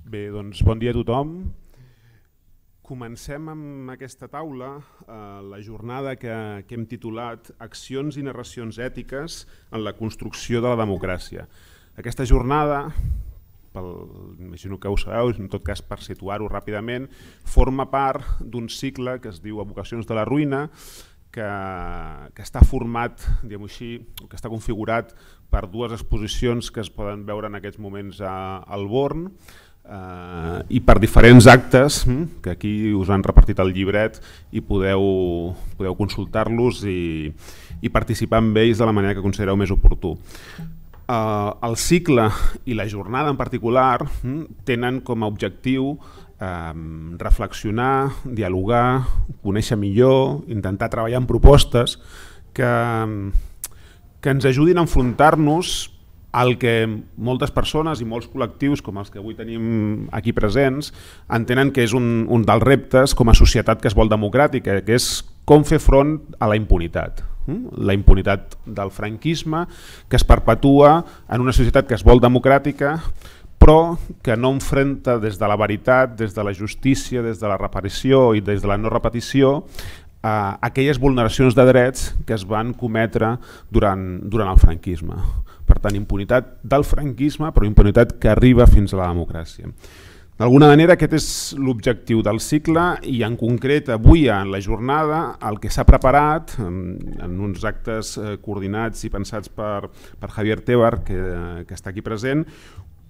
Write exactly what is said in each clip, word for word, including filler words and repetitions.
Bé, doncs bon dia a tothom. Comencem amb aquesta taula eh, la jornada que, que hem titulat Accions i narracions ètiques en la construcció de la democràcia. Aquesta jornada, pel, imagino que ho sabeu, en tot cas per situar-ho ràpidament, forma part d'un cicle que es diu Evocacions de la ruïna, que, que està format, diguem-ho així, que està configurat per dues exposicions que es poden veure en aquests moments a, al Born, Uh, i per diferents actes que aquí us han repartit el llibret i podeu, podeu consultar-los i, i participar amb ells de la manera que considereu més oportú. Uh, el cicle i la jornada en particular tenen com a objectiu uh, reflexionar, dialogar, conèixer millor, intentar treballar en propostes que, que ens ajudin a enfrontar-nos el que moltes persones i molts col·lectius, com els que avui tenim aquí presents, entenen que és un, un dels reptes com a societat que es vol democràtica, que és com fer front a la impunitat. La impunitat del franquisme, que es perpetua en una societat que es vol democràtica, però que no enfrenta des de la veritat, des de la justícia, des de la reparació i des de la no repetició, a aquelles vulneracions de drets que es van cometre durant, durant el franquisme. Per tant, impunitat del franquisme, però impunitat que arriba fins a la democràcia. D'alguna manera aquest és l'objectiu del cicle i en concret avui en la jornada el que s'ha preparat en, en uns actes eh, coordinats i pensats per, per Javier Tebar, que, que està aquí present,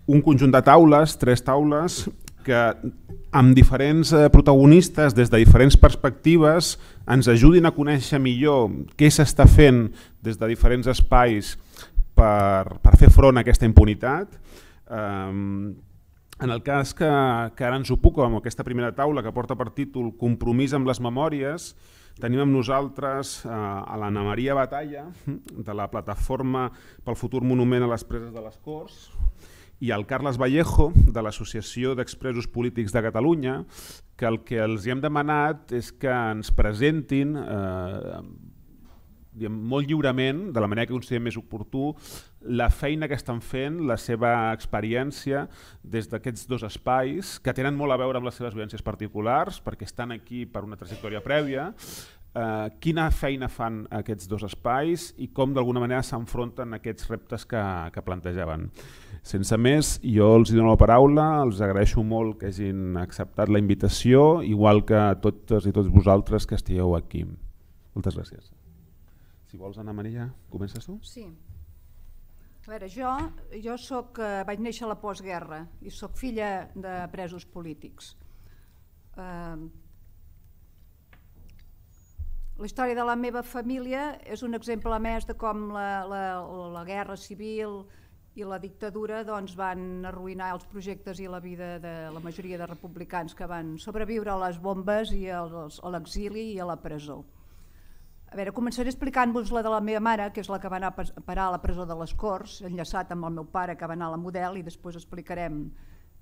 un conjunt de taules, tres taules, que amb diferents protagonistes des de diferents perspectives ens ajudin a conèixer millor què s'està fent des de diferents espais per, per fer front a aquesta impunitat. Um, en el cas que, que ara ens ocupa amb aquesta primera taula que porta per títol Compromís amb les memòries, tenim amb nosaltres uh, a l'Anna Maria Batalla de la Plataforma pel Futur Monument a les Preses de les Corts i el Carles Vallejo de l'Associació d'Expresos Polítics de Catalunya, que el que els hem demanat és que ens presentin eh, molt lliurement, de la manera que considerem més oportú, la feina que estan fent, la seva experiència des d'aquests dos espais, que tenen molt a veure amb les seves vivències particulars, perquè estan aquí per una trajectòria prèvia, eh, quina feina fan aquests dos espais i com d'alguna manera s'enfronten a aquests reptes que, que plantejaven. Sense més, jo els dono la paraula, els agraeixo molt que hagin acceptat la invitació, igual que a totes i tots vosaltres que estigueu aquí. Moltes gràcies. Si vols, Anna Maria, comences tu? Sí. A veure, jo, jo soc, eh, vaig néixer a la postguerra i soc filla de presos polítics. Eh, la història de la meva família és un exemple més de com la, la, la guerra civil i la dictadura doncs, van arruïnar els projectes i la vida de la majoria de republicans que van sobreviure a les bombes i als, a l'exili i a la presó. A veure, començaré explicant-vos la de la meva mare, que és la que va anar a parar a la presó de les Corts, enllaçat amb el meu pare que va anar a la Model, i després explicarem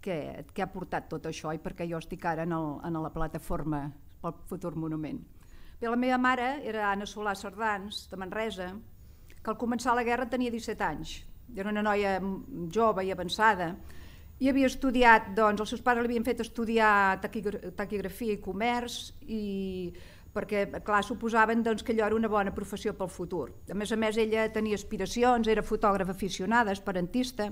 què, què ha portat tot això i per què jo estic ara en, el, en la plataforma pel Futur Monument. Bé, la meva mare era Anna Solà Cerdans, de Manresa, que al començar la guerra tenia disset anys. Era una noia jove i avançada i havia estudiat, doncs els seus pares l'havien fet estudiar taquigrafia i comerç i perquè, clar, suposaven doncs, que allò era una bona professió pel futur. A més a més, ella tenia aspiracions, era fotògrafa aficionada, esperantista.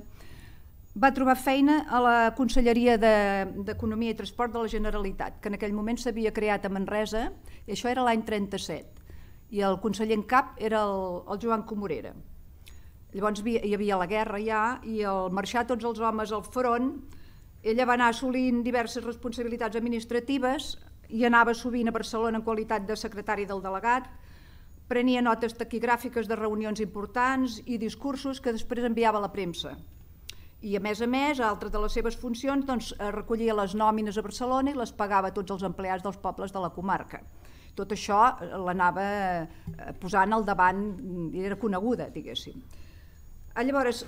Va trobar feina a la Conselleria d'Economia i Transport de la Generalitat, que en aquell moment s'havia creat a Manresa, i això era l'any trenta-set, i el conseller en cap era el, el Joan Comorera. Llavors hi havia la guerra ja i al marxar tots els homes al front, ella va anar assolint diverses responsabilitats administratives i anava sovint a Barcelona en qualitat de secretari del delegat, prenia notes taquigràfiques de reunions importants i discursos que després enviava a la premsa. I a més a més, altres de les seves funcions, doncs, recollia les nòmines a Barcelona i les pagava a tots els empleats dels pobles de la comarca. Tot això l'anava posant al davant, era coneguda, diguéssim. Llavors,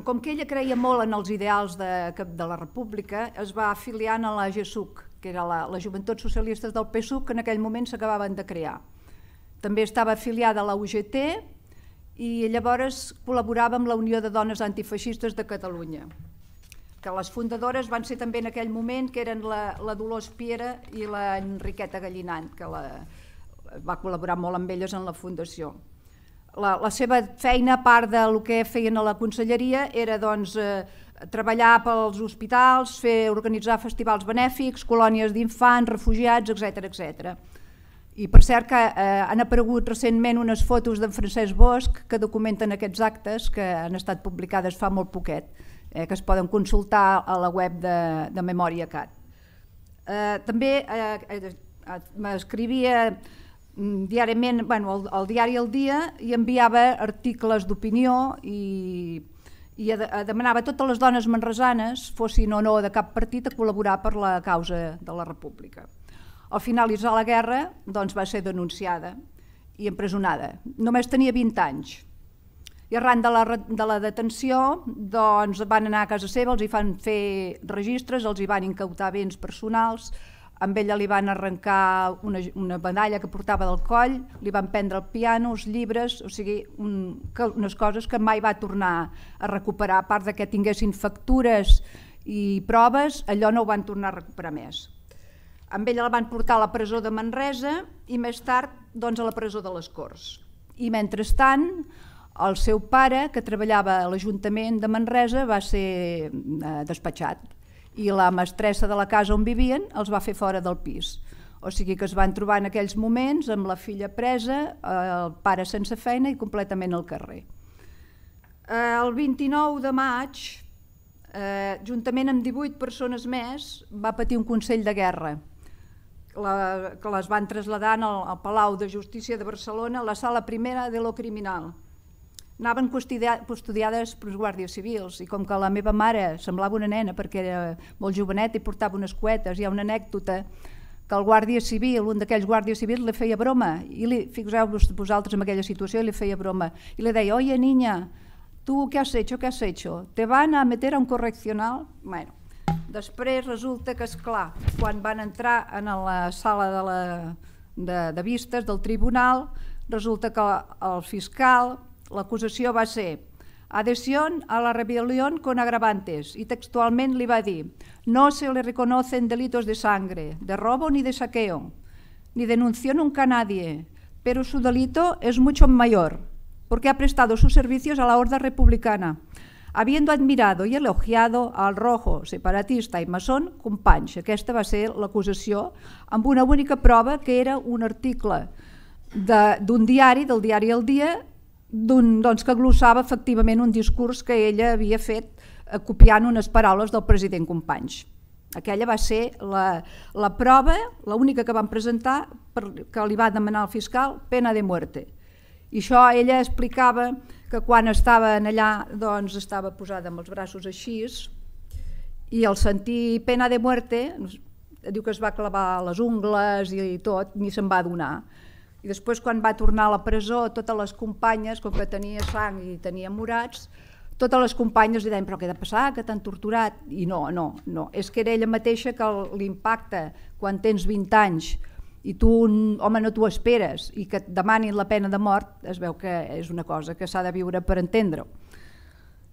com que ella creia molt en els ideals de, de la República, es va afiliar a la G S U C, que era la, les Joventuts Socialistes del P S U C, que en aquell moment s'acabaven de crear. També estava afiliada a la U G T i llavors col·laborava amb la Unió de Dones Antifeixistes de Catalunya. que les fundadores van ser també en aquell moment, que eren la, la Dolors Piera i la Enriqueta Gallinant, que la, va col·laborar molt amb elles en la fundació. La, la seva feina, a part del que feien a la conselleria, era doncs, eh, treballar pels hospitals, fer, organitzar festivals benèfics, colònies d'infants, refugiats, etcètera etcètera. I per cert que eh, han aparegut recentment unes fotos d'en Francesc Bosch que documenten aquests actes, que han estat publicades fa molt poquet, eh, que es poden consultar a la web de, de Memòria Cat. Eh, també eh, eh, m'escrivia diàriament, bueno, el, el diari El Dia, i enviava articles d'opinió i, i demanava a totes les dones manresanes, fossin o no de cap partit, a col·laborar per la causa de la República. Al finalitzar la guerra doncs, va ser denunciada i empresonada. Només tenia vint anys. I arran de la, de la detenció doncs, van anar a casa seva, els hi van fer registres, els hi van incautar béns personals, amb ella li van arrencar una, una medalla que portava del coll, li van prendre el piano, els llibres, o sigui, un, que, unes coses que mai va tornar a recuperar, a part de que tinguessin factures i proves, allò no ho van tornar a recuperar més. Amb ella la van portar a la presó de Manresa i més tard doncs, a la presó de les Corts. I mentrestant, el seu pare, que treballava a l'Ajuntament de Manresa, va ser eh, despatxat i la mestressa de la casa on vivien els va fer fora del pis. O sigui que es van trobar en aquells moments amb la filla presa, el pare sense feina i completament al carrer. El vint-i-nou de maig, eh, juntament amb divuit persones més, va patir un consell de guerra, la, que les van traslladar al, al Palau de Justícia de Barcelona, a la sala primera de lo criminal. Anaven custodiades pels guàrdies civils i com que la meva mare semblava una nena perquè era molt jovenet i portava unes cuetes, hi ha una anècdota que el guàrdia civil, un d'aquells guàrdies civils, li feia broma, i li, fixeu-vos vosaltres en aquella situació, li feia broma, i li deia, oye niña, tu què has hecho, què has hecho? ¿Te van a meter a un correccional? Bueno, després resulta que, esclar, quan van entrar en la sala de, la, de, de vistes del tribunal, resulta que el fiscal, l'acusació va ser adhesión a la rebelión con agravantes y textualment li va dir no se le reconocen delitos de sangre, de robo ni de saqueo, ni denunció nunca a nadie, pero su delito es mucho mayor porque ha prestado sus servicios a la Horda Republicana, habiendo admirado y elogiado al rojo, separatista i masón Companys. Aquesta va ser l'acusació amb una única prova que era un article d'un diari, del diari El Dia, doncs, que glossava efectivament un discurs que ella havia fet eh, copiant unes paraules del president Companys. Aquella va ser la, la prova, l'única que van presentar, per, que li va demanar al fiscal, pena de muerte. I això ella explicava que quan estava allà doncs, estava posada amb els braços així i al sentir pena de muerte, diu que es va clavar les ungles i tot, ni se'n va adonar. I després, quan va tornar a la presó, totes les companyes, com que tenia sang i tenia morats, totes les companyes li deien, però què ha de passar, que t'han torturat? I no, no, no. És que era ella mateixa que l'impacte, quan tens vint anys i tu, home, no t'ho esperes, i que et demanin la pena de mort, es veu que és una cosa que s'ha de viure per entendre-ho.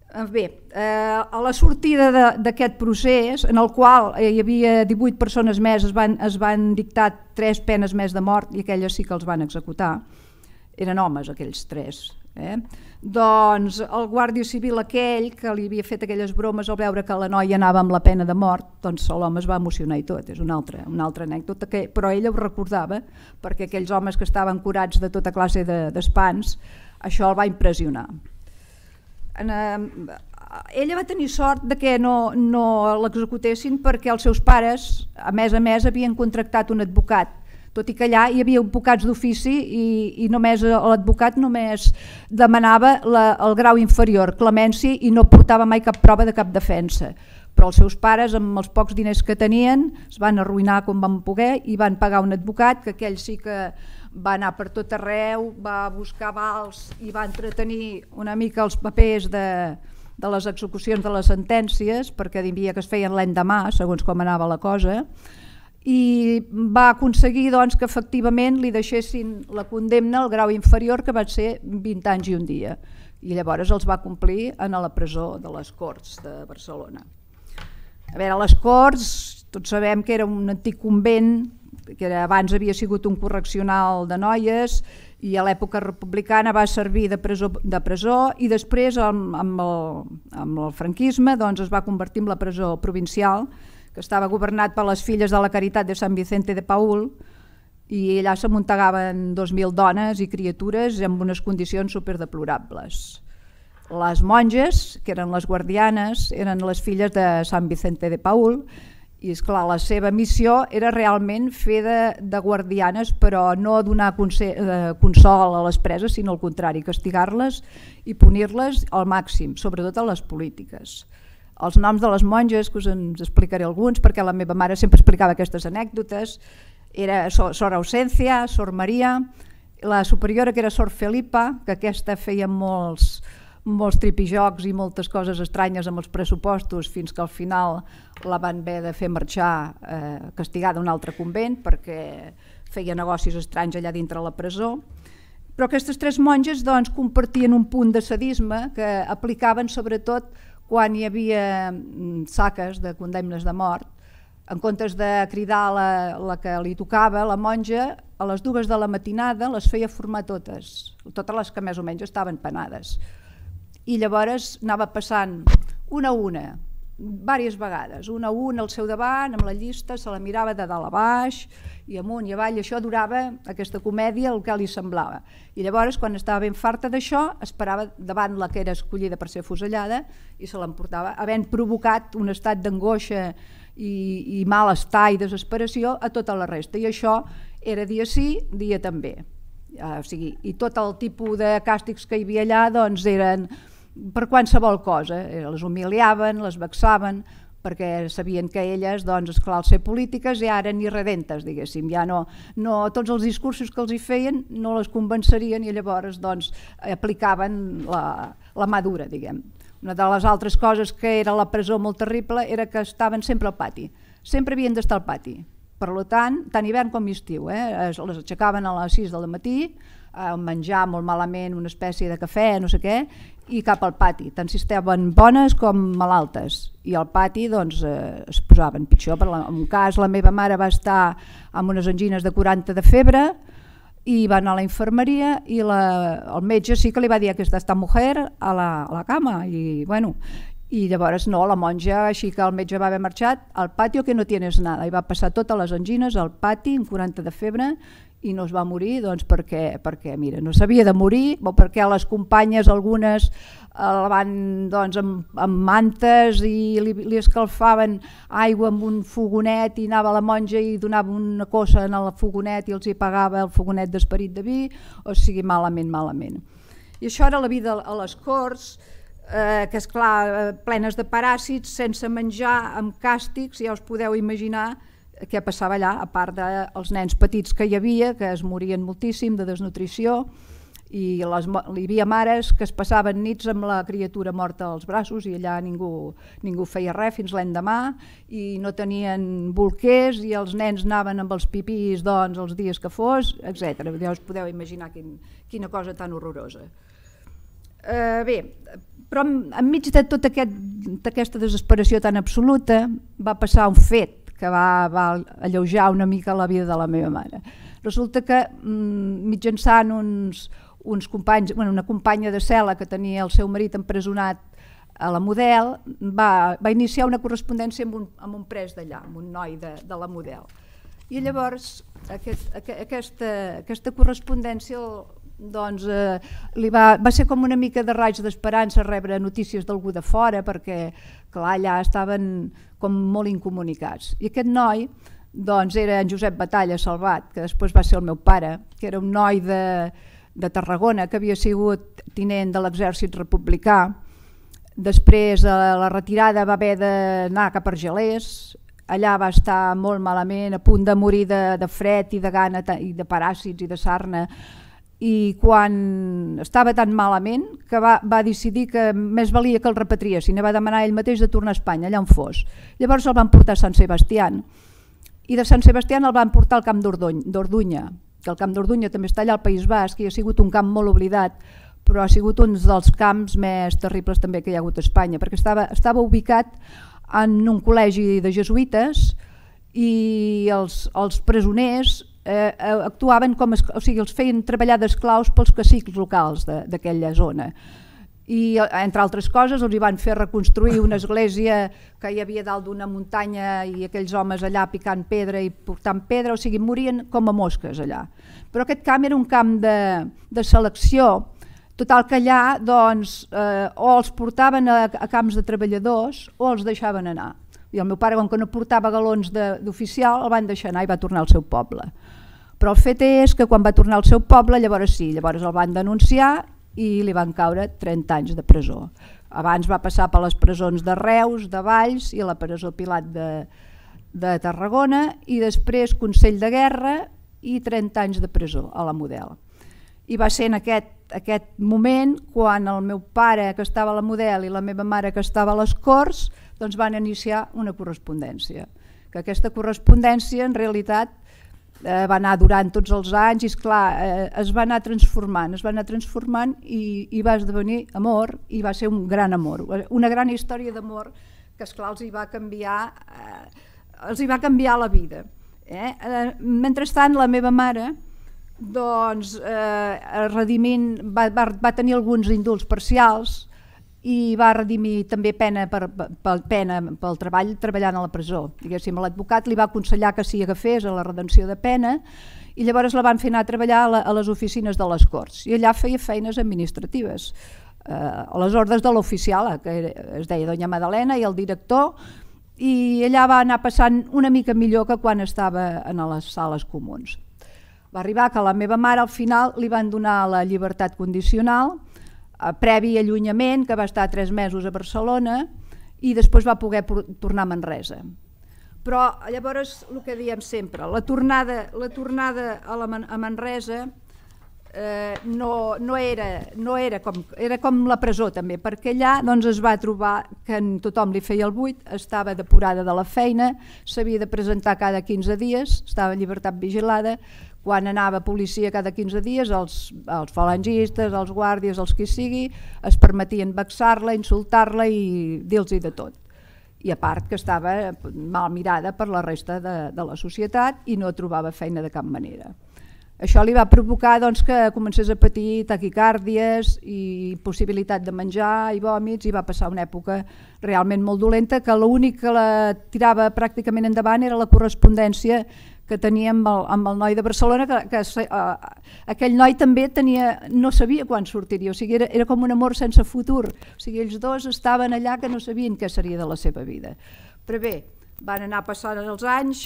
Bé, eh, a la sortida d'aquest procés, en el qual hi havia divuit persones més, es van, es van dictar tres penes més de mort i aquelles sí que els van executar, eren homes aquells tres. Eh? Doncs el guàrdia civil aquell que li havia fet aquelles bromes al veure que la noia anava amb la pena de mort, doncs l'home es va emocionar i tot, és una altra, una altra anècdota, que, però ella ho recordava perquè aquells homes que estaven curats de tota classe d'espants, això el va impressionar. Ella va tenir sort de que no, no l'executessin perquè els seus pares, a més a més, havien contractat un advocat, tot i que allà hi havia advocats d'ofici i, i només l'advocat només demanava la, el grau inferior, clemència, i no portava mai cap prova de cap defensa. Però els seus pares, amb els pocs diners que tenien, es van arruïnar com van poder i van pagar un advocat, que aquell sí que va anar per tot arreu, va buscar avals i va entretenir una mica els papers de, de les execucions de les sentències, perquè hi havia que es feien l'endemà, segons com anava la cosa, i va aconseguir doncs, que efectivament li deixessin la condemna al grau inferior, que va ser vint anys i un dia. I llavors els va complir a la presó de les Corts de Barcelona. A veure, a les Corts, tots sabem que era un antic convent, que era, abans havia sigut un correccional de noies, i a l'època republicana va servir de presó, de presó i després amb, amb, el, amb el franquisme doncs, es va convertir en la presó provincial, que estava governat per les filles de la Caritat de Sant Vicente de Paúl, i allà s'amuntegaven dos mil dones i criatures en unes condicions superdeplorables. Les monges, que eren les guardianes, eren les filles de Sant Vicente de Paúl, i esclar, la seva missió era realment fer de, de guardianes, però no donar consol a les preses, sinó al contrari, castigar-les i punir-les al màxim, sobretot a les polítiques. Els noms de les monges, que us en explicaré alguns, perquè la meva mare sempre explicava aquestes anècdotes, era Sor Ausencia, Sor Maria, la superiora que era Sor Felipa, que aquesta feia molts, molts tripijocs i moltes coses estranyes amb els pressupostos, fins que al final la van haver de fer marxar eh, castigada a un altre convent perquè feia negocis estranys allà dintre la presó. Però aquestes tres monges doncs, compartien un punt de sadisme que aplicaven sobretot quan hi havia saques de condemnes de mort. En comptes de cridar la, la que li tocava, la monja, a les dues de la matinada les feia formar totes, totes les que més o menys estaven penades. I llavors anava passant una a una, diverses vegades, una a una al seu davant, amb la llista, se la mirava de dalt a baix, i amunt i avall, i això durava, aquesta comèdia, el que li semblava. I llavors, quan estava ben farta d'això, esperava davant la que era escollida per ser fusellada i se l'emportava, havent provocat un estat d'angoixa i, i malestar i desesperació a tota la resta. I això era dia sí, dia també. O sigui, i tot el tipus de càstigs que hi havia allà doncs, eren per qualsevol cosa. Les humiliaven, les vexaven, perquè sabien que elles, doncs, esclar, al ser polítiques ja eren irredentes, diguéssim, ja no, no, tots els discursos que els hi feien no les convencerien i llavors doncs, aplicaven la, la mà dura, diguem. Una de les altres coses que era la presó molt terrible era que estaven sempre al pati, sempre havien d'estar al pati. Per tant, tant hivern com estiu, eh? Les aixecaven a les sis del matí, a menjar molt malament una espècie de cafè, no sé què, i cap al pati, tant si estaven bones com malaltes. I al pati doncs, eh, es posaven pitjor. Per la, en un cas, la meva mare va estar amb unes angines de quaranta de febre i va anar a la infermeria i la, el metge sí que li va dir que aquesta mujer a la, a la cama. I, bueno, i llavors no, la monja, així que el metge va haver marxat al patio que no tienes nada, i va passar totes les angines al pati amb quaranta de febre i no es va morir doncs, perquè, perquè mira, no s'havia de morir, o perquè les companyes algunes la van doncs, amb, amb mantes i li, li escalfaven aigua amb un fogonet i anava la monja i donava una cosa en el fogonet i els hi pagava el fogonet d'esperit de vi, o sigui, malament, malament. I això era la vida a les Corts, eh, que esclar, plenes de paràsits, sense menjar, amb càstigs, ja us podeu imaginar què passava allà, a part dels nens petits que hi havia, que es morien moltíssim de desnutrició, i les, hi havia mares que es passaven nits amb la criatura morta als braços i allà ningú, ningú feia res fins l'endemà, i no tenien bolquers i els nens anaven amb els pipís doncs, els dies que fos, etcètera. Ja us podeu imaginar quin, quina cosa tan horrorosa. Eh, bé, però enmig de tota aquest, aquesta desesperació tan absoluta va passar un fet que va, va alleujar una mica la vida de la meva mare. Resulta que mitjançant uns, uns companys, bueno, una companya de cel·la que tenia el seu marit empresonat a la Model, va, va iniciar una correspondència amb un, amb un pres d'allà, amb un noi de, de la Model. I llavors aquest, aquesta, aquesta correspondència doncs, eh, li va, va ser com una mica de raig d'esperança rebre notícies d'algú de fora, perquè clar, allà estaven com molt incomunicats. I aquest noi doncs, era en Josep Batalla Salvat, que després va ser el meu pare, que era un noi de, de Tarragona, que havia sigut tinent de l'exèrcit republicà. Després, a la retirada, va haver d'anar cap a Argelers. Allà va estar molt malament, a punt de morir de, de fred i de gana i de paràsits i de sarna. I quan estava tan malament que va, va decidir que més valia que el repatriessin i va demanar ell mateix de tornar a Espanya, allà on fos. Llavors el van portar a Sant Sebastián i de Sant Sebastián el van portar al camp d'Orduña, que el camp d'Orduña també està allà al País Basc i ha sigut un camp molt oblidat, però ha sigut un dels camps més terribles també que hi ha hagut a Espanya, perquè estava, estava ubicat en un col·legi de jesuïtes i els, els presoners eh, actuaven com, o sigui, els feien treballar d'esclaus pels cacics locals d'aquella zona. I, entre altres coses, els hi van fer reconstruir una església que hi havia dalt d'una muntanya i aquells homes allà picant pedra i portant pedra, o sigui, morien com a mosques allà. Però aquest camp era un camp de, de selecció, total que allà doncs, eh, o els portaven a, a camps de treballadors o els deixaven anar. I el meu pare, com que no portava galons d'oficial, el van deixar anar i va tornar al seu poble. Però el fet és que quan va tornar al seu poble, llavors sí, llavors el van denunciar i li van caure trenta anys de presó. Abans va passar per les presons de Reus, de Valls i a la presó Pilat de, de Tarragona i després Consell de Guerra i trenta anys de presó a la Model. I va ser en aquest, aquest moment quan el meu pare, que estava a la Model, i la meva mare, que estava a les Corts, doncs van iniciar una correspondència. Que aquesta correspondència, en realitat, Eh, va anar durant tots els anys i esclar, eh, es va anar transformant, es va anar transformant i, i va esdevenir amor i va ser un gran amor, una gran història d'amor que esclar els hi va canviar, eh, els hi va canviar la vida. Eh? Eh, mentrestant la meva mare doncs, eh, redimint, va, va, va tenir alguns indults parcials i va redimir també pena per, per, pena pel treball treballant a la presó. Diguéssim, l'advocat li va aconsellar que s'hi agafés a la redenció de pena i llavors la van fer anar a treballar a, la, a les oficines de les Corts i allà feia feines administratives, eh, a les ordres de l'oficial, que es deia Doña Madalena, i el director, i allà va anar passant una mica millor que quan estava en les sales comuns. Va arribar que a la meva mare al final li van donar la llibertat condicional, previ allunyament, que va estar tres mesos a Barcelona i després va poder tornar a Manresa. Però llavors, el que diem sempre, la tornada, la tornada a, la, a Manresa eh, no, no, era, no era, com, era com la presó també, perquè allà doncs, es va trobar que tothom li feia el buit, estava depurada de la feina, s'havia de presentar cada quinze dies, estava en llibertat vigilada. Quan anava policia cada quinze dies, els, els falangistes, els guàrdies, els qui sigui, es permetien vexar-la, insultar-la i dir-los de tot. I a part que estava mal mirada per la resta de, de la societat i no trobava feina de cap manera. Això li va provocar doncs, que comencés a patir taquicàrdies i possibilitat de menjar i vòmits i va passar una època realment molt dolenta que l'únic que la tirava pràcticament endavant era la correspondència que tenia amb el, amb el noi de Barcelona, que, que uh, aquell noi també tenia, no sabia quan sortiria, o sigui, era, era com un amor sense futur, o sigui, ells dos estaven allà que no sabien què seria de la seva vida. Però bé, van anar passant els anys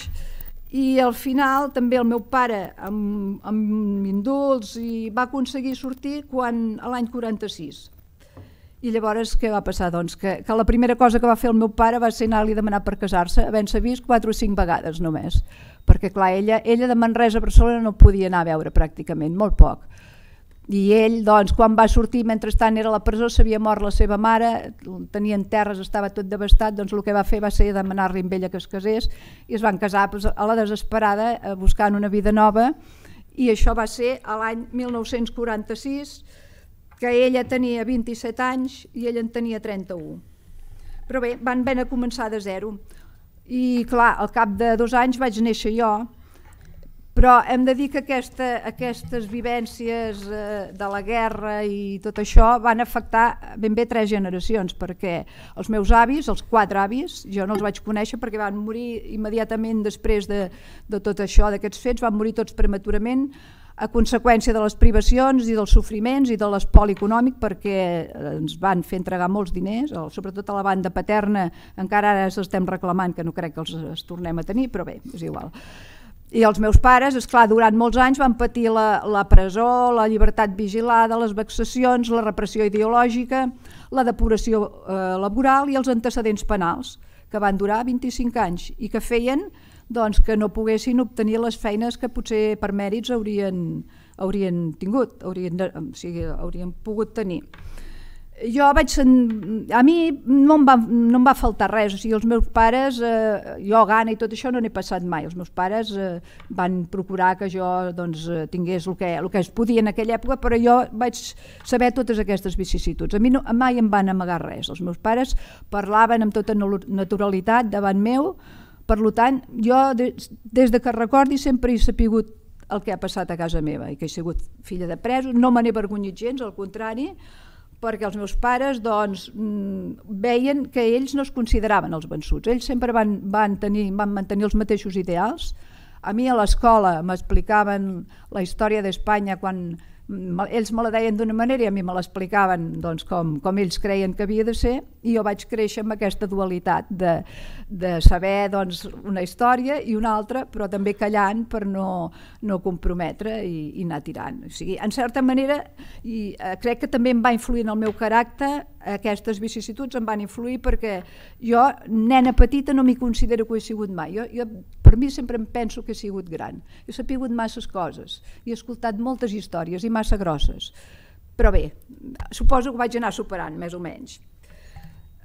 i al final també el meu pare amb, amb indults i va aconseguir sortir quan a l'any quaranta-sis. I llavors què va passar? Doncs que, que la primera cosa que va fer el meu pare va ser anar-li a demanar per casar-se, havent-se vist quatre o cinc vegades només, perquè clar, ella, ella de Manresa a Barcelona no podia anar a veure pràcticament, molt poc. I ell, doncs, quan va sortir, mentrestant era a la presó, s'havia mort la seva mare, tenien terres, estava tot devastat, doncs el que va fer va ser demanar-li amb ella que es casés i es van casar doncs, a la desesperada, buscant una vida nova, i això va ser a l'any mil nou-cents quaranta-sis, que ella tenia vint-i-set anys i ell en tenia trenta-u. Però bé, van haver de començar de zero. I clar, al cap de dos anys vaig néixer jo, però hem de dir que aquesta, aquestes vivències eh, de la guerra i tot això van afectar ben bé tres generacions, perquè els meus avis, els quatre avis, jo no els vaig conèixer perquè van morir immediatament després de, de tot això, d'aquests fets, van morir tots prematurament, a conseqüència de les privacions i dels sofriments i de l'espoli econòmic, perquè ens van fer entregar molts diners, sobretot a la banda paterna, encara ara estem reclamant, que no crec que els, els tornem a tenir, però bé, és igual. I els meus pares, esclar, durant molts anys van patir la, la presó, la llibertat vigilada, les vexacions, la repressió ideològica, la depuració eh, laboral i els antecedents penals, que van durar vint-i-cinc anys i que feien doncs, que no poguessin obtenir les feines que potser per mèrits haurien, haurien tingut, haurien, de, o sigui, haurien pogut tenir. Jo vaig... A mi no em va, no em va faltar res, o sigui, els meus pares, eh, jo gana i tot això no n'he passat mai, els meus pares eh, van procurar que jo doncs, tingués el que, el que es podia en aquella època, però jo vaig saber totes aquestes vicissituds. A mi no, mai em van amagar res, els meus pares parlaven amb tota naturalitat davant meu, per tant, jo des, des de que recordi sempre he sapigut el que ha passat a casa meva i que he sigut filla de presos, no me n'he avergonyit gens, al contrari, perquè els meus pares doncs, veien que ells no es consideraven els vençuts. Ells sempre van, van, tenir, van mantenir els mateixos ideals. A mi a l'escola m'explicaven la història d'Espanya quan ells me la deien d'una manera i a mi me l'explicaven doncs, com, com ells creien que havia de ser, i jo vaig créixer amb aquesta dualitat de, de saber doncs, una història i una altra, però també callant per no, no comprometre i, i anar tirant. O sigui, en certa manera, i eh, crec que també em va influir en el meu caràcter, aquestes vicissituds em van influir perquè jo, nena petita, no m'hi considero que ho he sigut mai. Jo, jo, per mi sempre em penso que he sigut gran. He sapigut masses coses, he escoltat moltes històries i massa grosses. Però bé, suposo que vaig anar superant, més o menys.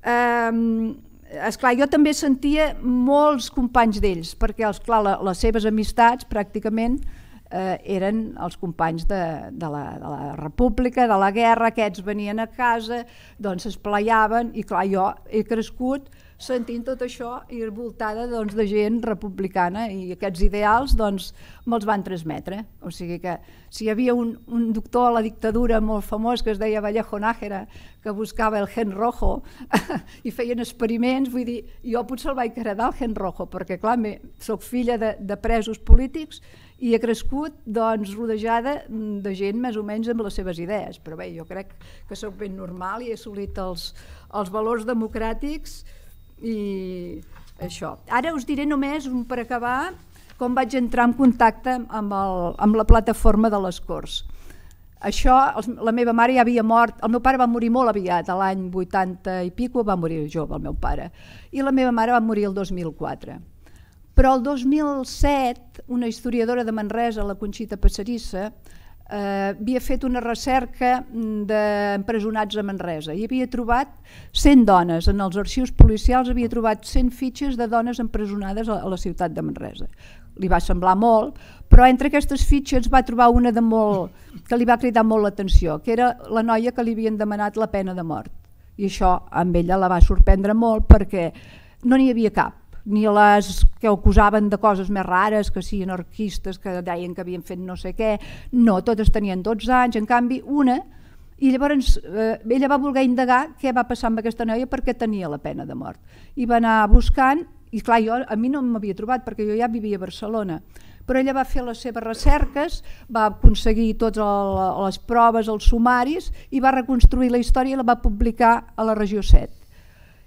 Um, esclar, jo també sentia molts companys d'ells, perquè esclar, la, les seves amistats pràcticament eh, eren els companys de, de, la, de la república, de la guerra, aquests venien a casa, doncs es plaiaven, i clar, jo he crescut sentint tot això i envoltada doncs, de gent republicana, i aquests ideals doncs, me'ls van transmetre. O sigui que si hi havia un, un doctor a la dictadura molt famós que es deia Vallejo Nájera, que buscava el gen rojo i feien experiments, vull dir, jo potser el vaig heredar el gen rojo, perquè clar, soc filla de, de presos polítics i he crescut doncs, rodejada de gent més o menys amb les seves idees, però bé, jo crec que soc ben normal i he assolit els, els valors democràtics i això. Ara us diré només, per acabar, com vaig entrar en contacte amb, el, amb la plataforma de les Corts. Això, la meva mare ja havia mort, el meu pare va morir molt aviat, a l'any vuitanta i pico va morir jove el meu pare, i la meva mare va morir el dos mil quatre. Però el dos mil set, una historiadora de Manresa, la Conxita Passarissa, Uh, havia fet una recerca d'empresonats a Manresa i havia trobat cent dones, en els arxius policials havia trobat cent fitxes de dones empresonades a la ciutat de Manresa. Li va semblar molt, però entre aquestes fitxes va trobar una de molt, que li va cridar molt l'atenció, que era la noia que li havien demanat la pena de mort. I això amb ella la va sorprendre molt perquè no n'hi havia cap, ni les que acusaven de coses més rares, que sí, anarquistes, que deien que havien fet no sé què, no, totes tenien dotze anys, en canvi una, i llavors eh, ella va voler indagar què va passar amb aquesta noia perquè tenia la pena de mort. I va anar buscant, i clar, jo, a mi no m'havia trobat perquè jo ja vivia a Barcelona, però ella va fer les seves recerques, va aconseguir totes les proves, els sumaris, i va reconstruir la història i la va publicar a la regió set.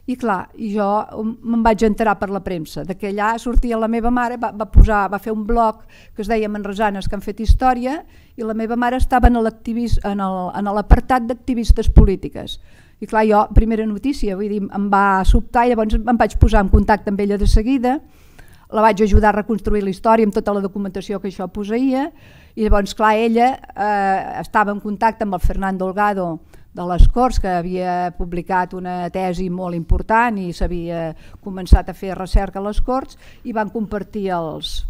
I clar, jo me'n vaig enterar per la premsa, de que allà sortia la meva mare, va, va, posar, va fer un blog que es deia Manresanes que han fet història, i la meva mare estava en l'apartat d'activistes polítiques. I clar, jo, primera notícia, vull dir, em va sobtar, llavors em vaig posar en contacte amb ella de seguida, la vaig ajudar a reconstruir la història amb tota la documentació que això posseïa, i llavors, clar, ella eh, estava en contacte amb el Fernando Holgado de les Corts, que havia publicat una tesi molt important i s'havia començat a fer recerca a les Corts, i van compartir els,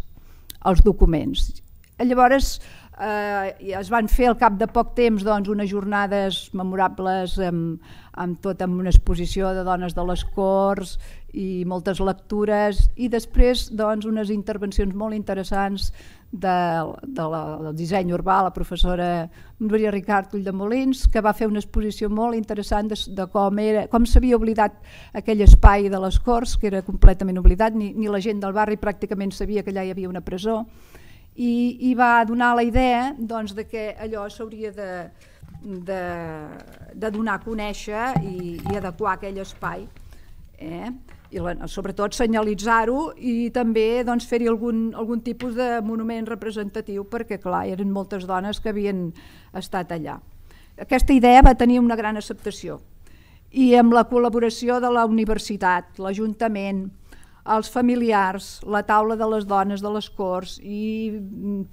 els documents. Llavors eh, es van fer al cap de poc temps doncs, unes jornades memorables amb, amb tot amb una exposició de dones de les Corts i moltes lectures, i després doncs, unes intervencions molt interessants de, de la, del disseny urbà, la professora Núria Ricart Ulldemolins, que va fer una exposició molt interessant de, de com era, com s'havia oblidat aquell espai de les Corts, que era completament oblidat, ni, ni la gent del barri pràcticament sabia que allà hi havia una presó, i, i va donar la idea doncs, de que allò s'hauria de, de, de donar a conèixer i, i adequar aquell espai. Eh? I la, sobretot senyalitzar-ho i també doncs, fer-hi algun, algun tipus de monument representatiu perquè clar, eren moltes dones que havien estat allà. Aquesta idea va tenir una gran acceptació i amb la col·laboració de la universitat, l'Ajuntament, els familiars, la taula de les dones de les Corts i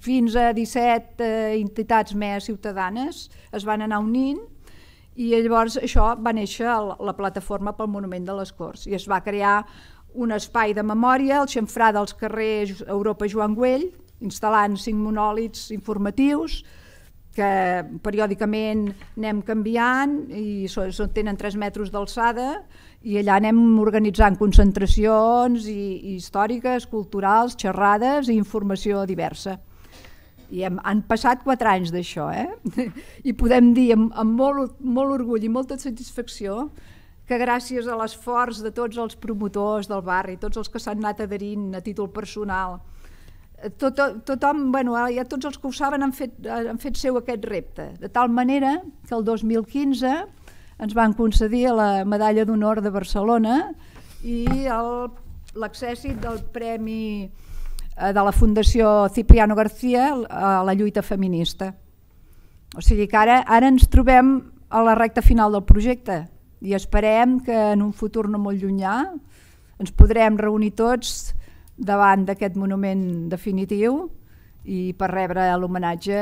fins a disset eh, entitats més ciutadanes es van anar unint i llavors això va néixer la, la plataforma pel Monument de les Corts i es va crear un espai de memòria, el xamfrà dels carrers Europa Joan Güell, instal·lant cinc monòlits informatius que periòdicament anem canviant i so, so, tenen tres metres d'alçada i allà anem organitzant concentracions i, i històriques, culturals, xerrades i informació diversa. I hem, han passat quatre anys d'això, eh? I podem dir amb, amb molt, molt orgull i molta satisfacció que gràcies a l'esforç de tots els promotors del barri, tots els que s'han anat adherint a títol personal, tot, tothom, bueno, ja tots els que ho saben han fet, han fet seu aquest repte, de tal manera que el dos mil quinze ens van concedir la Medalla d'Honor de Barcelona i l'accèssit del Premi de la Fundació Cipriano García a la lluita feminista. O sigui que ara, ara ens trobem a la recta final del projecte i esperem que en un futur no molt llunyà ens podrem reunir tots davant d'aquest monument definitiu i per rebre l'homenatge,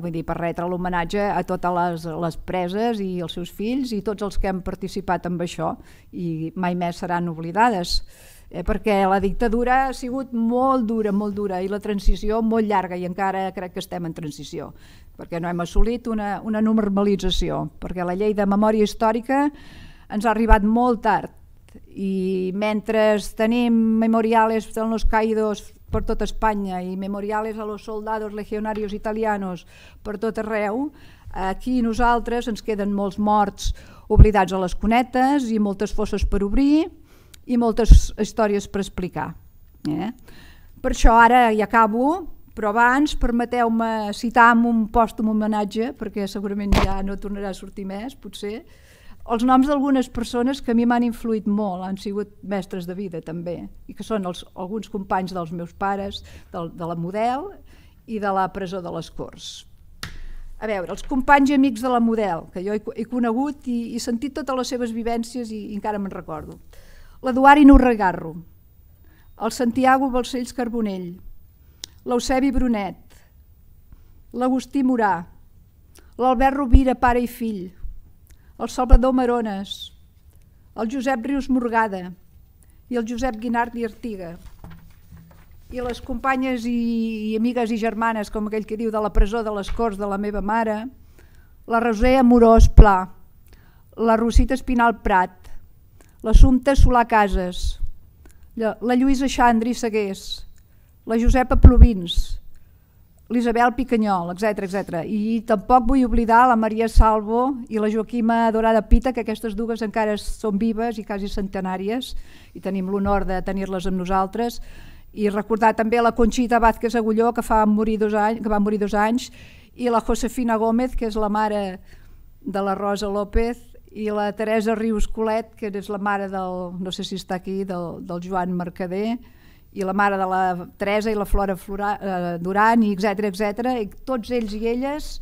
vull dir, per retre l'homenatge a totes les, les preses i els seus fills i tots els que hem participat amb això i mai més seran oblidades. Eh, perquè la dictadura ha sigut molt dura, molt dura i la transició molt llarga i encara crec que estem en transició perquè no hem assolit una, una normalització, perquè la llei de memòria històrica ens ha arribat molt tard i mentre tenim memoriales de los caídos per tot Espanya i memoriales a los soldados legionarios italianos per tot arreu, aquí nosaltres ens queden molts morts oblidats a les cunetes i moltes fosses per obrir i moltes històries per explicar. Eh? Per això ara ja acabo, però abans permeteu-me citar amb un pòstum homenatge, perquè segurament ja no tornarà a sortir més, potser, els noms d'algunes persones que a mi m'han influït molt, han sigut mestres de vida també, i que són els, alguns companys dels meus pares, del, de la Model i de la presó de les Corts. A veure, els companys i amics de la Model, que jo he, he conegut i he sentit totes les seves vivències i, i encara me'n recordo. L'Eduard Inorregarro, el Santiago Balcells Carbonell, l'Eusebi Brunet, l'Agustí Morà, l'Albert Rovira, pare i fill, el Salvador Marones, el Josep Rius Morgada i el Josep Guinart i Artiga, i les companyes i, i amigues i germanes, com aquell que diu, de la presó de les Corts de la meva mare, la Roser Amorós Pla, la Rosita Espinal Prat, l'Assumpta Solà Casas, la, la Lluïsa Xandri Segués, la Josepa Plovins, l'Isabel Picanyol, etcètera etcètera. I tampoc vull oblidar la Maria Salvo i la Joaquima Dorada Pita, que aquestes dues encara són vives i quasi centenàries i tenim l'honor de tenir-les amb nosaltres. I recordar també la Conxita Vázquez Agulló, que, fa morir dos anys, que va morir dos anys, i la Josefina Gómez, que és la mare de la Rosa López, i la Teresa Rius Colet, que és la mare del, no sé si està aquí, del, del Joan Mercader, i la mare de la Teresa i la Flora Flora, eh, Duran, i etcètera etcètera, i tots ells i elles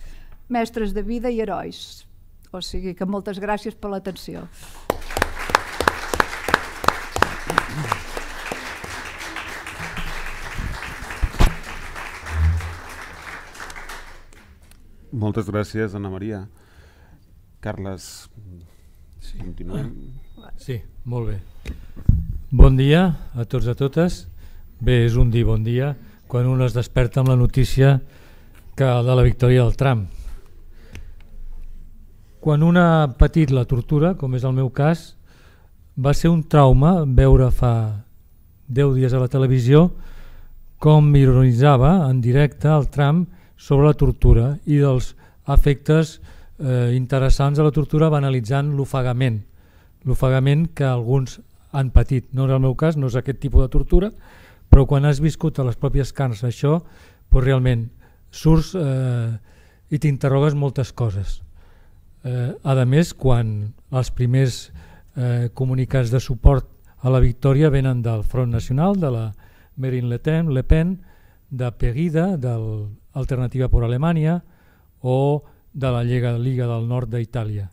mestres de vida i herois. O sigui que moltes gràcies per l'atenció. Moltes gràcies, Anna Maria. Carles, sí. Continuem. Sí, molt bé. Bon dia a tots i a totes. Bé, és un dir bon dia quan un es desperta amb la notícia que de la victòria del Trump. Quan un ha patit la tortura, com és el meu cas, va ser un trauma veure fa deu dies a la televisió com ironitzava en directe el Trump sobre la tortura i dels efectes eh, interessants de la tortura banalitzant l'ofegament, l'ofegament que alguns han patit. No és el meu cas, no és aquest tipus de tortura, però quan has viscut a les pròpies carns això, doncs realment surts eh, i t'interrogues moltes coses. Eh, a més, quan els primers eh, comunicats de suport a la victòria venen del Front Nacional, de la Marine Le Pen, Le Pen de Pegida, de l'Alternativa per Alemanya o de la Lliga, Lliga del Nord d'Itàlia.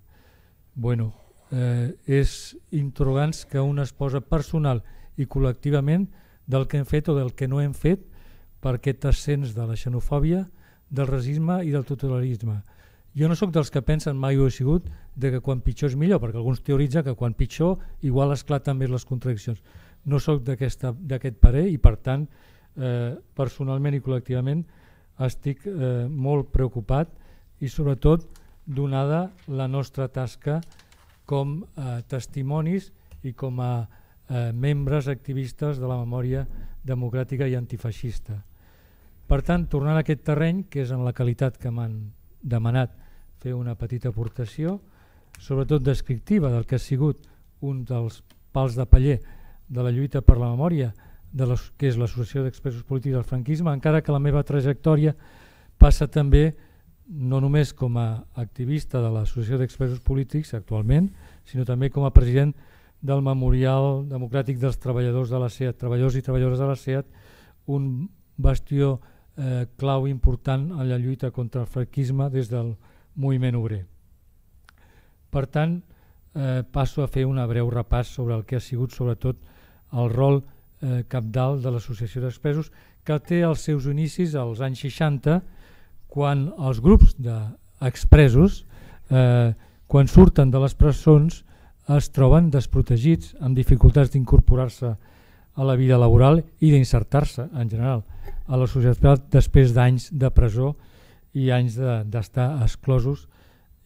Bueno, eh, és interrogants que un es posa personal i col·lectivament del que hem fet o del que no hem fet per aquest ascens de la xenofòbia, del racisme i del totalitarisme. Jo no sóc dels que pensen, mai ho he sigut, de que quan pitjor és millor, perquè alguns teoritzen que quan pitjor igual esclaten més les contradiccions. No sóc d'aquest parer i per tant, eh, personalment i col·lectivament, estic eh, molt preocupat i sobretot donada la nostra tasca com a testimonis i com a eh, membres activistes de la memòria democràtica i antifeixista. Per tant, tornant a aquest terreny, que és en la qualitat que m'han demanat fer una petita aportació, sobretot descriptiva del que ha sigut un dels pals de paller de la lluita per la memòria, de les, que és l'Associació d'Expresos Polítics del Franquisme, encara que la meva trajectòria passa també no només com a activista de l'Associació d'Expresos Polítics actualment, sinó també com a president del Memorial Democràtic dels Treballadors de la SEAT, treballadors i treballadores de la SEAT, un bastió eh, clau important en la lluita contra el franquisme des del moviment obrer. Per tant, eh, passo a fer un breu repàs sobre el que ha sigut sobretot el rol eh, cabdal de l'Associació d'Expresos, que té els seus inicis als anys seixanta, quan els grups d'expresos, eh, quan surten de les presons, es troben desprotegits, amb dificultats d'incorporar-se a la vida laboral i d'insertar-se en general a la societat després d'anys de presó i anys d'estar de, exclosos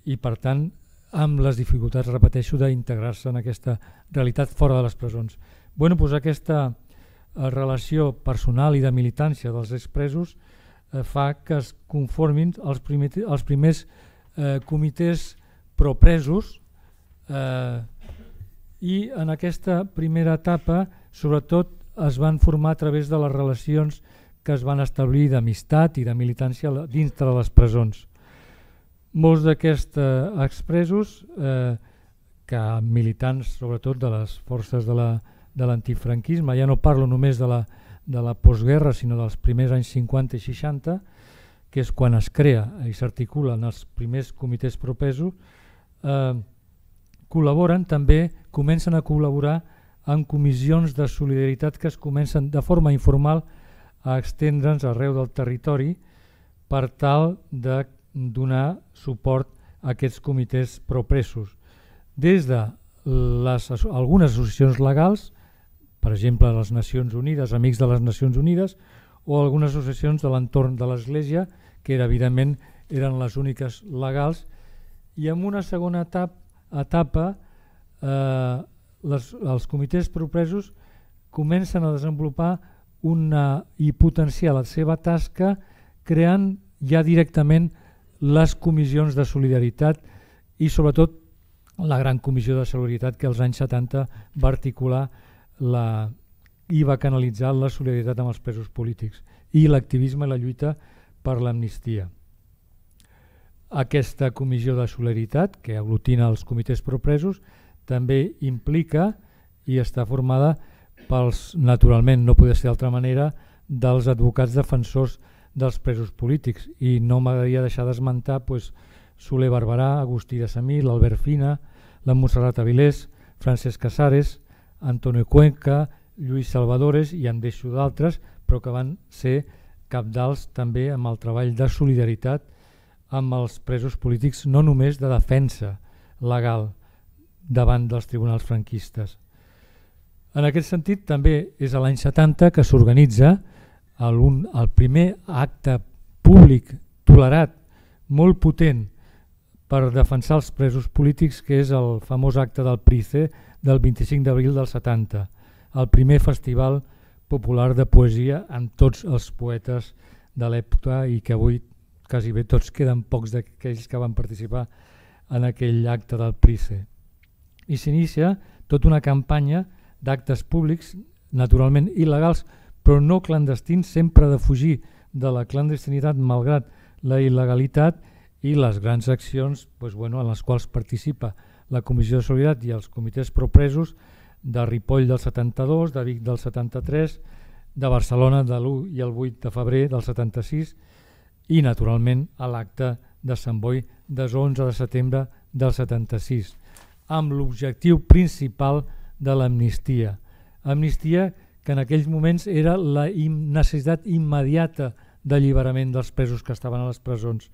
i per tant amb les dificultats, repeteixo, d'integrar-se en aquesta realitat fora de les presons. Bueno, doncs aquesta eh, relació personal i de militància dels expresos eh, fa que es conformin els, primer, els primers eh, comitès propresos eh, i en aquesta primera etapa sobretot es van formar a través de les relacions que es van establir d'amistat i de militància dintre de les presons. Molts d'aquests eh, expresos, eh, que militants sobretot de les forces de la, de l'antifranquisme, ja no parlo només de la, de la postguerra sinó dels primers anys cinquanta i seixanta, que és quan es crea i s'articulen els primers comitès propresos, eh, col·laboren també, comencen a col·laborar en comissions de solidaritat que es comencen de forma informal a extendre'ns arreu del territori per tal de donar suport a aquests comitès propresos. Des de les, algunes associacions legals, per exemple les Nacions Unides, Amics de les Nacions Unides, o algunes associacions de l'entorn de l'Església, que era, evidentment eren les úniques legals, i en una segona etapa, etapa eh, les, els comitès propresos comencen a desenvolupar una, i potenciar la seva tasca creant ja directament les comissions de solidaritat i sobretot la gran comissió de solidaritat que als anys setanta va articular la, i va canalitzar la solidaritat amb els presos polítics i l'activisme i la lluita per l'amnistia. Aquesta comissió de solidaritat, que aglutina els comitès propresos, també implica i està formada pels, naturalment, no podia ser d'altra manera, dels advocats defensors dels presos polítics. I no m'agradaria deixar d'esmentar pues, Soler Barberà, Agustí de Samí, l'Albert Fina, la Montserrat Avilés, Francesc Casares, Antonio Cuenca, Lluís Salvadores i en deixo d'altres, però que van ser cabdals també amb el treball de solidaritat amb els presos polítics, no només de defensa legal davant dels tribunals franquistes. En aquest sentit, també és a l'any setanta que s'organitza el, el primer acte públic tolerat, molt potent, per defensar els presos polítics, que és el famós acte del Price del vint-i-cinc d'abril del setanta, el primer festival popular de poesia amb tots els poetes de l'època i que avui quasi bé tots queden pocs d'aquells que van participar en aquell acte del Price. I s'inicia tota una campanya d'actes públics, naturalment il·legals, però no clandestins, sempre de fugir de la clandestinitat malgrat la il·legalitat i les grans accions doncs, bueno, en les quals participa la Comissió de Solidaritat i els comitès propresos de Ripoll del setanta-dos, de Vic del setanta-tres, de Barcelona de l'u i el vuit de febrer del setanta-sis i naturalment a l'acte de Sant Boi des onze de setembre del setanta-sis, amb l'objectiu principal de l'amnistia. Amnistia que en aquells moments era la necessitat immediata d'alliberament dels presos que estaven a les presons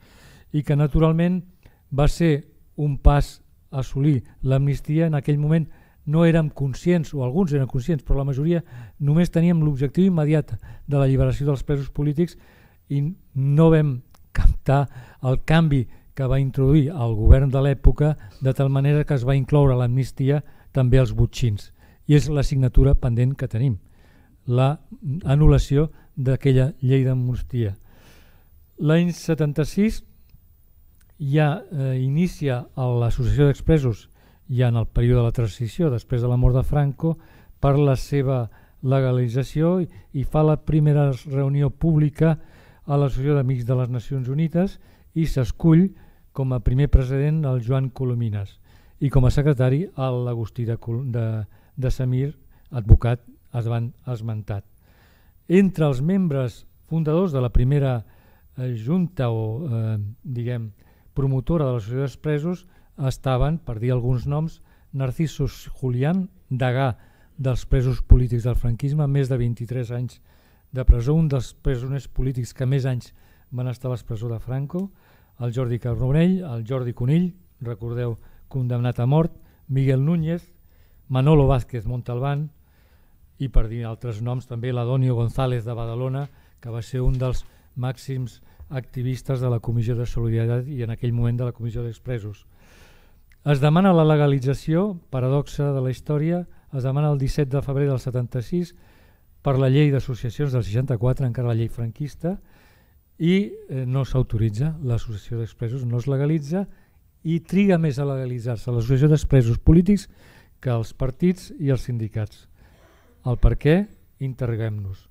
i que naturalment va ser un pas a assolir l'amnistia. En aquell moment no érem conscients, o alguns eren conscients, però la majoria només teníem l'objectiu immediat de l'alliberació dels presos polítics i no vam captar el canvi que va introduir el govern de l'època, de tal manera que es va incloure a l'amnistia també els botxins. I és l'assignatura pendent que tenim, la anul·lació d'aquella llei d'amnistia. L'any setanta-sis ja eh, inicia l'associació d'expresos, ja en el període de la transició, després de la mort de Franco, per la seva legalització i, i fa la primera reunió pública a l'Associació d'Amics de les Nacions Unides i s'escull com a primer president el Joan Colomines i com a secretari l'Agustí de, de, de Samir, advocat esmentat. Entre els membres fundadors de la primera eh, junta o eh, diguem promotora de l'Associació d'Expresos estaven, per dir alguns noms, Narciso Julián, degà dels presos polítics del franquisme, més de vint-i-tres anys de presó, un dels presoners polítics que més anys van estar a la presó de Franco, el Jordi Carbonell, el Jordi Conill, recordeu, condemnat a mort, Miguel Núñez, Manolo Vázquez Montalbán i, per dir altres noms, també l'Adonio González de Badalona, que va ser un dels màxims activistes de la Comissió de Solidaritat i en aquell moment de la Comissió d'Expresos. Es demana la legalització, paradoxa de la història, es demana el disset de febrer del setanta-sis per la llei d'associacions del seixanta-quatre, encara la llei franquista, i eh, no s'autoritza l'associació d'expresos, no es legalitza i triga més a legalitzar-se l'associació d'expresos polítics que els partits i els sindicats. El per què? Interroguem-nos.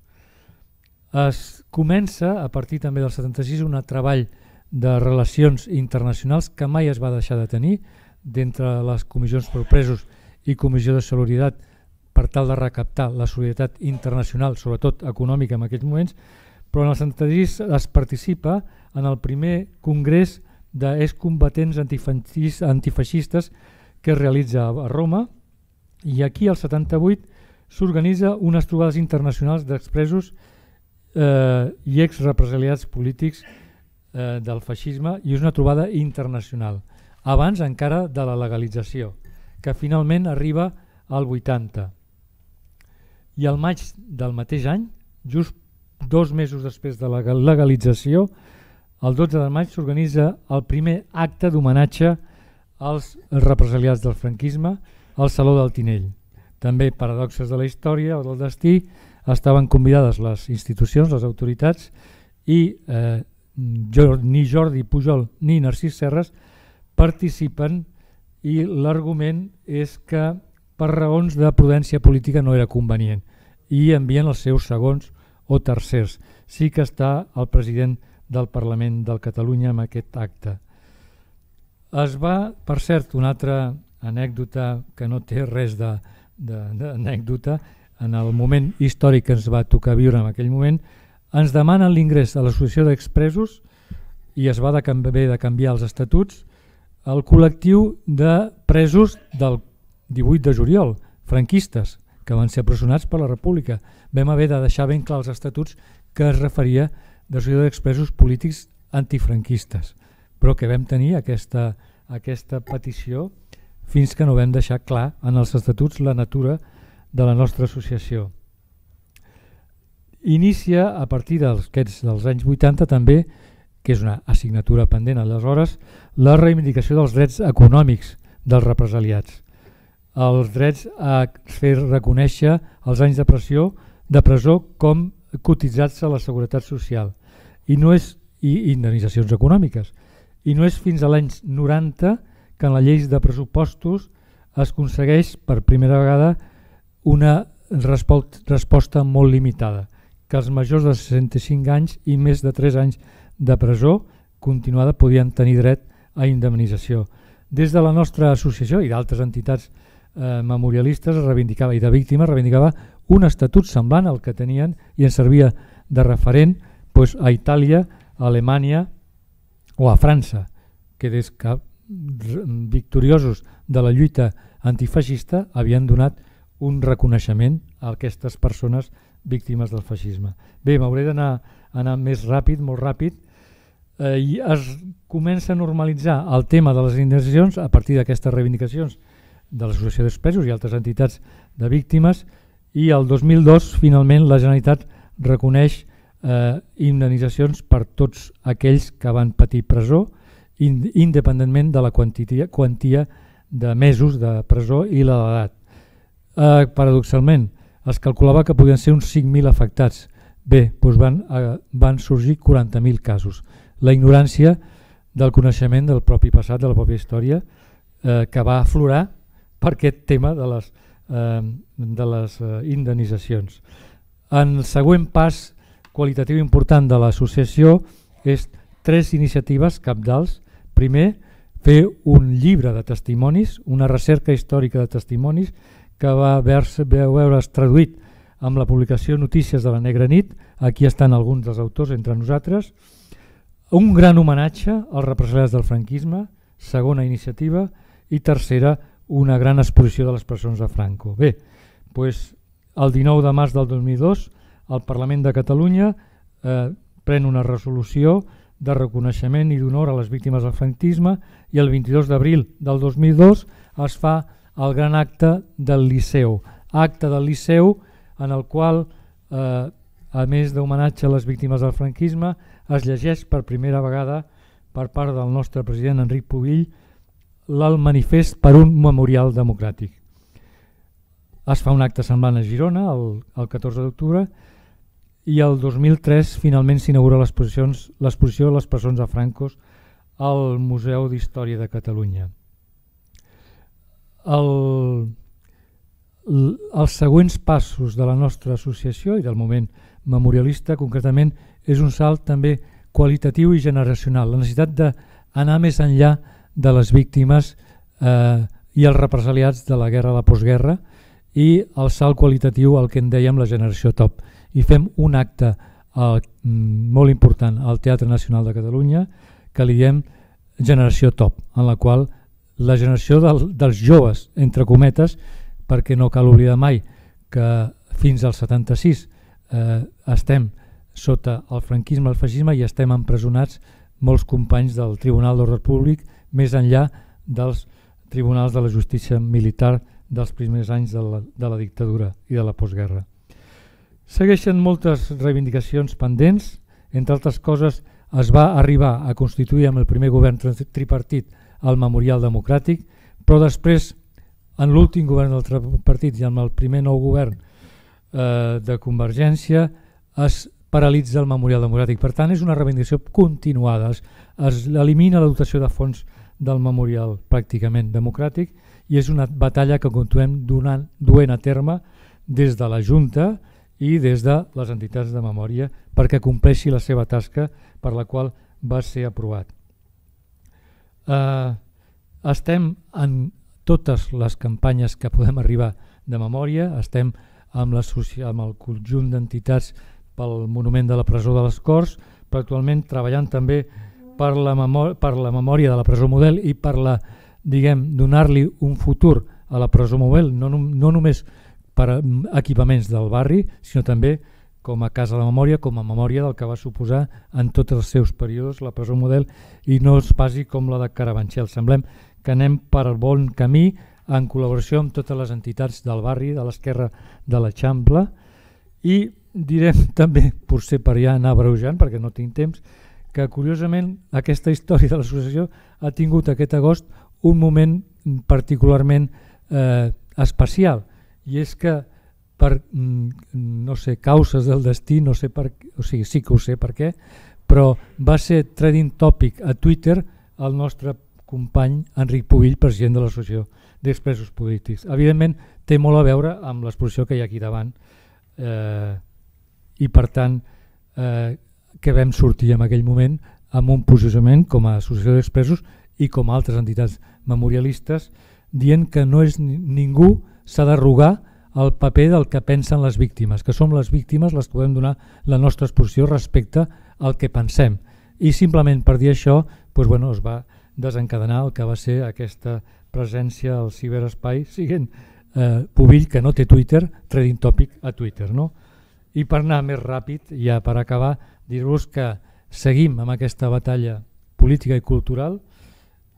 Es comença a partir també del setanta-sis un treball de relacions internacionals que mai es va deixar de tenir d'entre les comissions per presos i comissió de solidaritat per tal de recaptar la solidaritat internacional, sobretot econòmica en aquests moments, però en el setanta-sis es participa en el primer congrés d'excombatents antifeixistes que es realitza a Roma i aquí al setanta-vuit s'organitza unes trobades internacionals d'expresos eh, i exrepresaliats polítics eh, del feixisme i és una trobada internacional, abans encara de la legalització, que finalment arriba al vuitanta. I al maig del mateix any, just dos mesos després de la legalització, el dotze de maig s'organitza el primer acte d'homenatge als represaliats del franquisme al Saló del Tinell. També paradoxes de la història o del destí, estaven convidades les institucions, les autoritats, i eh, jo, ni Jordi Pujol ni Narcís Serres participen i l'argument és que per raons de prudència política no era convenient i envien els seus segons o tercers. Sí que està el president del Parlament de Catalunya en aquest acte. Es va, per cert, una altra anècdota que no té res d'anècdota, en el moment històric que ens va tocar viure en aquell moment, ens demanen l'ingrés a l'associació d'expresos i es va de haver de canviar els estatuts el col·lectiu de presos del divuit de juliol, franquistes, que van ser presonats per la República. Vam haver de deixar ben clar els estatuts que es referia d'associació d'expresos polítics antifranquistes, però que vam tenir aquesta, aquesta petició fins que no vam deixar clar en els estatuts la natura de la nostra associació. Inicia a partir dels, dels anys vuitanta també, que és una assignatura pendent aleshores, la reivindicació dels drets econòmics dels represaliats. Els drets a fer reconèixer els anys de pressió de presó com cotitzats a la Seguretat Social i no és i indemnitzacions econòmiques. I no és fins a l'any noranta que en la llei de pressupostos es aconsegueix per primera vegada una resposta molt limitada, que els majors de seixanta-cinc anys i més de tres anys de presó continuada podien tenir dret a indemnització. Des de la nostra associació i d'altres entitats eh, memorialistes es reivindicava, i de víctimes reivindicava un estatut semblant al que tenien i ens servia de referent doncs, a Itàlia, a Alemanya o a França, que des que victoriosos de la lluita antifeixista havien donat un reconeixement a aquestes persones víctimes del feixisme. Bé, m'hauré d'anar anar més ràpid, molt ràpid. eh, i es comença a normalitzar el tema de les indemnitzacions a partir d'aquestes reivindicacions de l'Associació d'Expresos i altres entitats de víctimes, i el dos mil dos finalment la Generalitat reconeix eh, indemnitzacions per tots aquells que van patir presó, in, independentment de la quantia, quantia de mesos de presó i l'edat. Eh, paradoxalment, es calculava que podien ser uns cinc mil afectats. Bé, doncs van, eh, van sorgir quaranta mil casos. La ignorància del coneixement del propi passat, de la pròpia història, eh, que va aflorar per aquest tema de les, eh, de les eh, indemnitzacions. En el següent pas qualitatiu important de l'associació és tres iniciatives cabdals. Primer, fer un llibre de testimonis, una recerca històrica de testimonis que va veure's traduït amb la publicació Notícies de la Negra Nit. Aquí estan alguns dels autors entre nosaltres. Un gran homenatge als represaliats del franquisme, segona iniciativa, i tercera, una gran exposició de les presons de Franco. Bé, doncs el dinou de març del dos mil dos el Parlament de Catalunya eh, pren una resolució de reconeixement i d'honor a les víctimes del franquisme, i el vint-i-dos d'abril del dos mil dos es fa el gran acte del Liceu. Acte del Liceu en el qual, eh, a més d'homenatge a les víctimes del franquisme, es llegeix per primera vegada per part del nostre president Enric Pubill el manifest per un memorial democràtic. Es fa un acte semblant a Girona el, el catorze d'octubre, i el dos mil tres finalment s'inaugura l'exposició de les presons de Franco al Museu d'Història de Catalunya. El, els següents passos de la nostra associació i del moment memorialista concretament és un salt també qualitatiu i generacional, la necessitat d'anar més enllà de les víctimes eh, i els represaliats de la guerra, la postguerra, i el salt qualitatiu al que en dèiem la generació top. I fem un acte eh, molt important al Teatre Nacional de Catalunya que li diem Generació Top, en la qual la generació del, dels joves, entre cometes, perquè no cal oblidar mai que fins al setanta-sis eh, estem sota el franquisme, el feixisme, i estem empresonats molts companys del Tribunal d'Ordre Públic, més enllà dels tribunals de la justícia militar dels primers anys de la, de la dictadura i de la postguerra. Segueixen moltes reivindicacions pendents, entre altres coses es va arribar a constituir amb el primer govern tripartit el Memorial Democràtic, però després, en l'últim govern del tripartit i amb el primer nou govern eh, de Convergència, es paralitza el Memorial Democràtic. Per tant, és una reivindicació continuada. Es, es elimina la dotació de fons del Memorial pràcticament democràtic i és una batalla que continuem donant, duent a terme des de la Junta i des de les entitats de memòria perquè compleixi la seva tasca per la qual va ser aprovat. Eh, estem en totes les campanyes que podem arribar de memòria, estem amb, la, amb el conjunt d'entitats pel Monument de la Presó de les Corts, però actualment treballant també per la, per la memòria de la presó model i per la, diguem, donar-li un futur a la presó model, no, no només per equipaments del barri, sinó també com a casa de memòria, com a memòria del que va suposar en tots els seus períodes la presó model, i no es passi com la de Carabanchel. Semblem que anem per el bon camí en col·laboració amb totes les entitats del barri, de l'esquerra de l'Eixample, i direm també, potser per ja anar abreujant, perquè no tinc temps, que curiosament aquesta història de l'associació ha tingut aquest agost un moment particularment eh, especial, i és que per, no sé, causes del destí, no sé per, o sigui, sí que ho sé per què, però va ser trending topic a Twitter el nostre company Enric Pubill, president de l'Associació d'Expresos Polítics. Evidentment té molt a veure amb l'exposició que hi ha aquí davant eh, i per tant eh, que vam sortir en aquell moment amb un posicionament com a Associació d'Expresos i com a altres entitats memorialistes dient que no és ningú s'ha d'arrogar el paper del que pensen les víctimes, que som les víctimes les que podem donar la nostra exposició respecte al que pensem. I simplement per dir això doncs, bueno, es va desencadenar el que va ser aquesta presència al ciberespai, siguent eh, Pubill, que no té Twitter, trending topic a Twitter. No? I per anar més ràpid, ja per acabar, dir-vos que seguim amb aquesta batalla política i cultural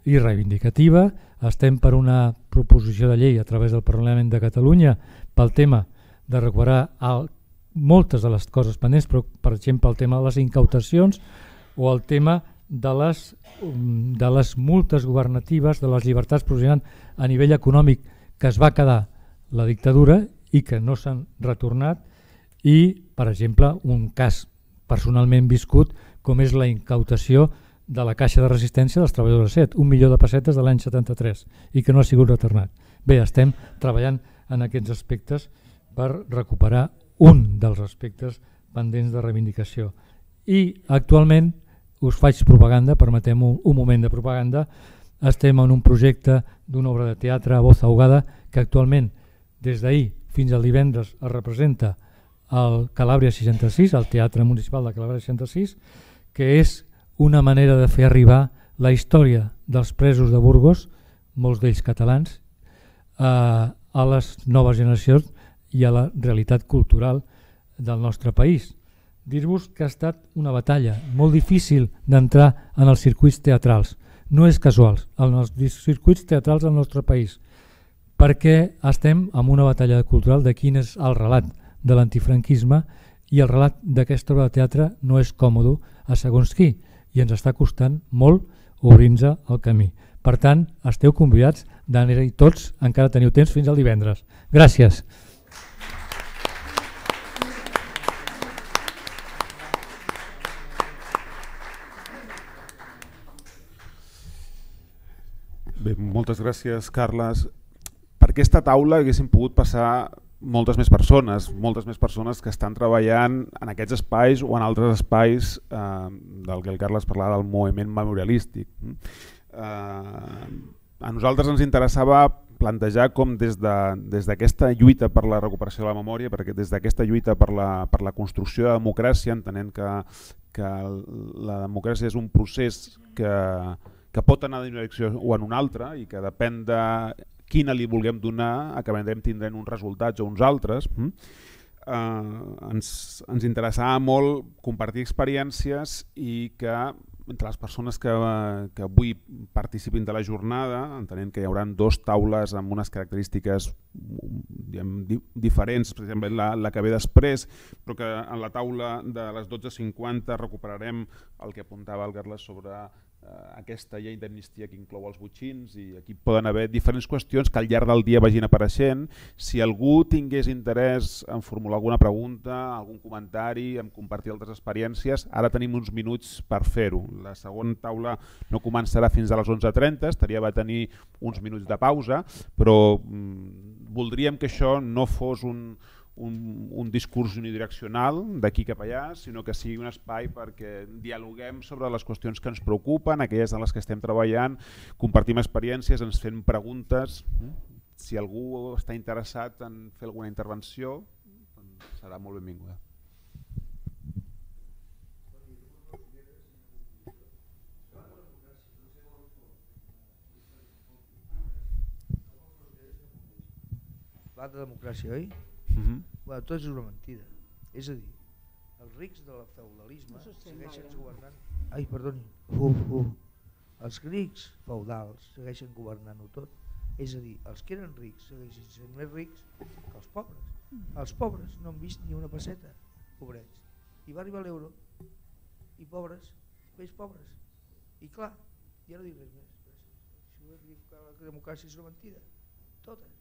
i reivindicativa. Estem per una proposició de llei a través del Parlament de Catalunya pel tema de recuperar el, moltes de les coses pendents, però per exemple el tema de les incautacions o el tema de les, de les multes governatives, de les llibertats provisionals a nivell econòmic que es va quedar la dictadura i que no s'han retornat, i per exemple un cas personalment viscut com és la incautació de la Caixa de Resistència dels treballadors de S E T, un milió de pessetes de l'any setanta-tres, i que no ha sigut retornat. Bé, estem treballant en aquests aspectes per recuperar un dels aspectes pendents de reivindicació. I actualment us faig propaganda, permetem un, un moment de propaganda. Estem en un projecte d'una obra de teatre a voz ahogada que actualment des d'ahir fins al divendres es representa al Calàbria seixanta-sis, al Teatre Municipal de Calàbria seixanta-sis, que és una manera de fer arribar la història dels presos de Burgos, molts d'ells catalans, a, a les noves generacions i a la realitat cultural del nostre país. Dir-vos que ha estat una batalla molt difícil d'entrar en els circuits teatrals. No és casual, en els circuits teatrals del nostre país, perquè estem en una batalla cultural de quin és el relat de l'antifranquisme, i el relat d'aquesta obra de teatre no és còmode a segons qui, i ens està costant molt obrir-nos el camí. Per tant, esteu convidats d'anar-hi tots, encara teniu temps fins al divendres. Gràcies. Bé, moltes gràcies, Carles. Per aquesta taula haguéssim pogut passar moltes més persones, moltes més persones que estan treballant en aquests espais o en altres espais eh, del que el Carles parlava del moviment memorialístic. Eh, a nosaltres ens interessava plantejar com des d'aquesta de, lluita per la recuperació de la memòria, perquè des d'aquesta lluita per la, per la construcció de democràcia, entenent que, que la democràcia és un procés que, que pot anar en una direcció o en una altra i que depèn de quina li vulguem donar, acabarem tindrent uns resultats o uns altres. Uh, ens, ens interessava molt compartir experiències i que entre les persones que, que avui participin de la jornada, entenent que hi haurà dos taules amb unes característiques diguem, di diferents, per exemple la, la que ve després, però que en la taula de les dotze cinquanta recuperarem el que apuntava el Carles sobre aquesta llei d'amnistia que inclou els botxins, i aquí poden haver diferents qüestions que al llarg del dia vagin apareixent. Si algú tingués interès en formular alguna pregunta, algun comentari, en compartir altres experiències, ara tenim uns minuts per fer-ho. La segona taula no començarà fins a les onze trenta, estaria va tenir uns minuts de pausa, però mm, voldríem que això no fos un Un, un discurs unidireccional d'aquí cap allà, sinó que sigui un espai perquè dialoguem sobre les qüestions que ens preocupen, aquelles en les que estem treballant, compartim experiències, ens fem preguntes. Si algú està interessat en fer alguna intervenció, doncs serà molt benvinguda. Parlar de democràcia, oi? Uh-huh. Bueno, tot és una mentida. És a dir, els rics del feudalisme no segueixen governant... Ai, perdoni. Uh, uh. Els rics feudals segueixen governant-ho tot. És a dir, els que eren rics segueixen sent més rics que els pobres. Els pobres no han vist ni una pesseta, pobrets. I va arribar l'euro, i pobres, més pobres. I clar, ja no dic res més. Si vull dir que la democràcia és una mentida, totes.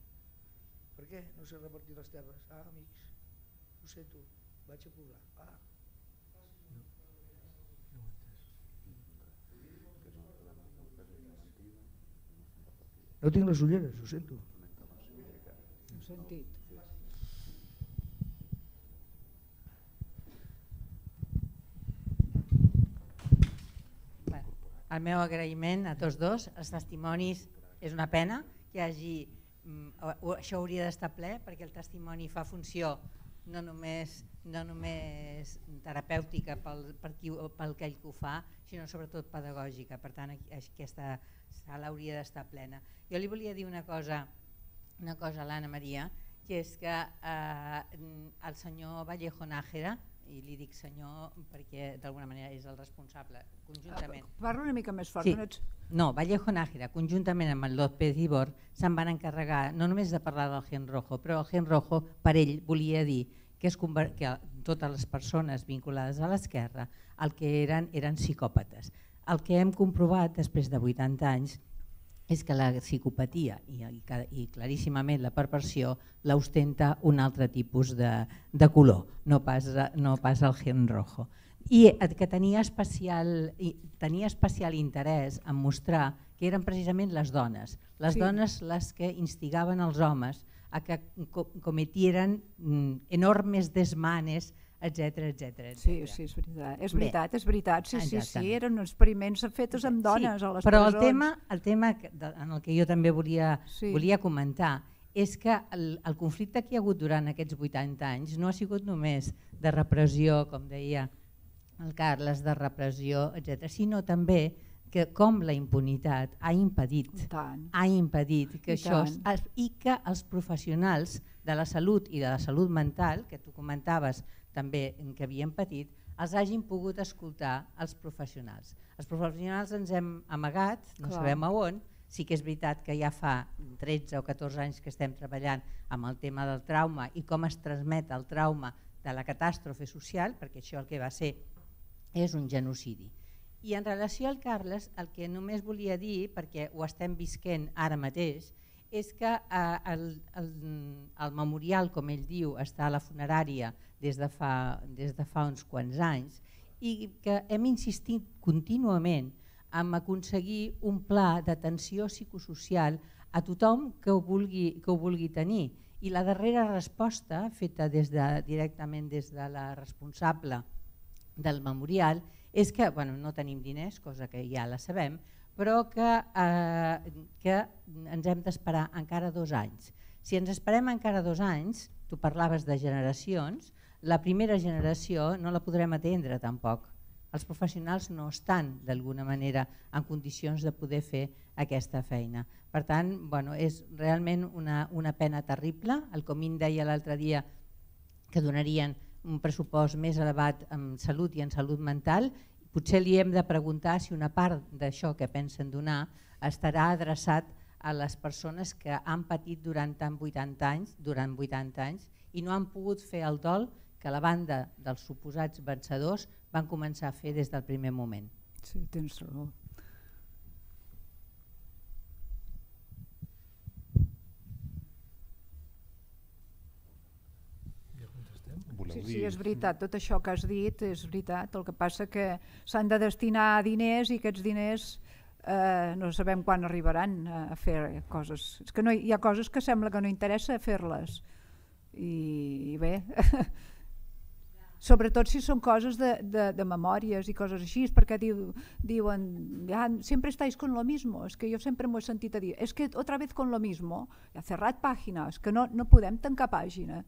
Per què no s'ha repartit les terres? Ah, amics, ho sento, vaig a poblar. Ah. No tinc les ulleres, ho sento. Ho sentit. Bé, el meu agraïment a tots dos, els testimonis, és una pena que hi hagi... Això hauria d'estar ple perquè el testimoni fa funció no només, no només terapèutica pel, per qui, pel que ell ho fa, sinó sobretot pedagògica. Per tant, aquesta sala hauria d'estar plena. Jo li volia dir una cosa, una cosa a l'Anna Maria, que és que eh, el senyor Vallejo Nájera i li dic senyor perquè d'alguna manera és el responsable, conjuntament. Parla una mica més fort. Sí. No, ets... no, Vallejo Nájera, conjuntament amb el López Ibor, se'n van encarregar no només de parlar del Gen Rojo, però el Gen Rojo per ell volia dir que, es conver... que totes les persones vinculades a l'esquerra el que eren eren psicòpates. El que hem comprovat després de vuitanta anys és que la psicopatia i, i, i claríssimament la perversió l'ostenta un altre tipus de, de color, no pas, no pas el Gen Rojo. I que tenia especial, tenia especial interès en mostrar que eren precisament les dones, les sí. dones les que instigaven els homes a que cometieren enormes desmanes, etcètera, etcètera. Sí, sí, és veritat, és veritat, és veritat. Sí, sí, Exactament. sí, eren experiments fets amb dones sí, a les però presons. el tema, el tema en el que jo també volia, sí. volia comentar és que el, el conflicte que hi ha hagut durant aquests vuitanta anys no ha sigut només de repressió, com deia el Carles, de repressió, etcètera, sinó també que com la impunitat ha impedit, ha impedit que I això tant. es, i que els professionals de la salut i de la salut mental, que tu comentaves també que havien patit, els hagin pogut escoltar els professionals. Els professionals ens hem amagat, no Clar. sabem a on, sí que és veritat que ja fa tretze o catorze anys que estem treballant amb el tema del trauma i com es transmet el trauma de la catàstrofe social, perquè això el que va ser és un genocidi. I en relació al Carles, el que només volia dir, perquè ho estem visquent ara mateix, és que eh, el, el, el memorial, com ell diu, està a la funerària des de fa, des de fa uns quants anys i que hem insistit contínuament en aconseguir un pla d'atenció psicosocial a tothom que ho vulgui, que ho vulgui tenir. I la darrera resposta, feta des de, directament des de la responsable del memorial, és que bueno, no tenim diners, cosa que ja la sabem, però que, eh, que ens hem d'esperar encara dos anys. Si ens esperem encara dos anys, tu parlaves de generacions, la primera generació no la podrem atendre tampoc. Els professionals no estan d'alguna manera en condicions de poder fer aquesta feina. Per tant, bueno, és realment una, una pena terrible. El Comín deia l'altre dia que donarien un pressupost més elevat en salut i en salut mental. Potser li hem de preguntar si una part d'això que pensen donar estarà adreçat a les persones que han patit durant tant vuitanta anys, durant vuitanta anys i no han pogut fer el dol que la banda dels suposats vencedors van començar a fer des del primer moment. Sí, tens raó. Sí, sí, és veritat, tot això que has dit és veritat, el que passa que s'han de destinar diners i aquests diners eh, no sabem quan arribaran a fer coses. És que no, hi ha coses que sembla que no interessa fer-les i, i bé, sobretot si són coses de, de, de memòries i coses així, perquè diu, diuen, ja, sempre estáis con lo mismo, és que jo sempre m'ho he sentit a dir, és que otra vez con lo mismo, ja cerrat pàgina, és que no, no podem tancar pàgina.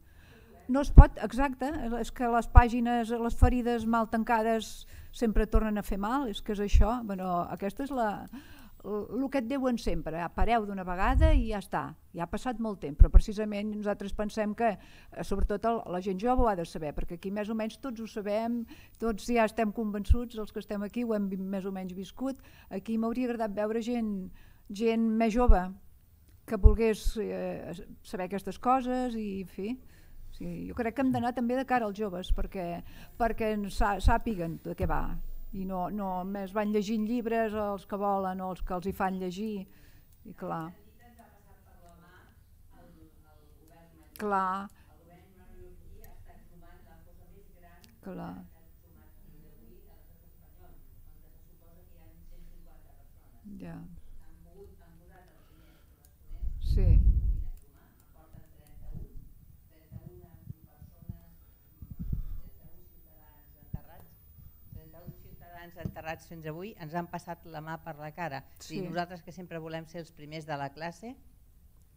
No es pot, exacte, és que les pàgines, les ferides mal tancades sempre tornen a fer mal, és que és això, bueno, aquesta és la, el que et diuen sempre, pareu d'una vegada i ja està, ja ha passat molt temps, però precisament nosaltres pensem que, sobretot la gent jove ho ha de saber, perquè aquí més o menys tots ho sabem, tots ja estem convençuts, els que estem aquí ho hem més o menys viscut, aquí m'hauria agradat veure gent, gent més jove que volgués eh, saber aquestes coses i, en fi, sí, jo crec que hem d'anar també de cara als joves perquè, perquè sàpiguen de què va i no, no més van llegint llibres els que volen o els que els hi fan llegir i clar clar clar ja sí enterrats fins avui, ens han passat la mà per la cara. Sí. I nosaltres que sempre volem ser els primers de la classe,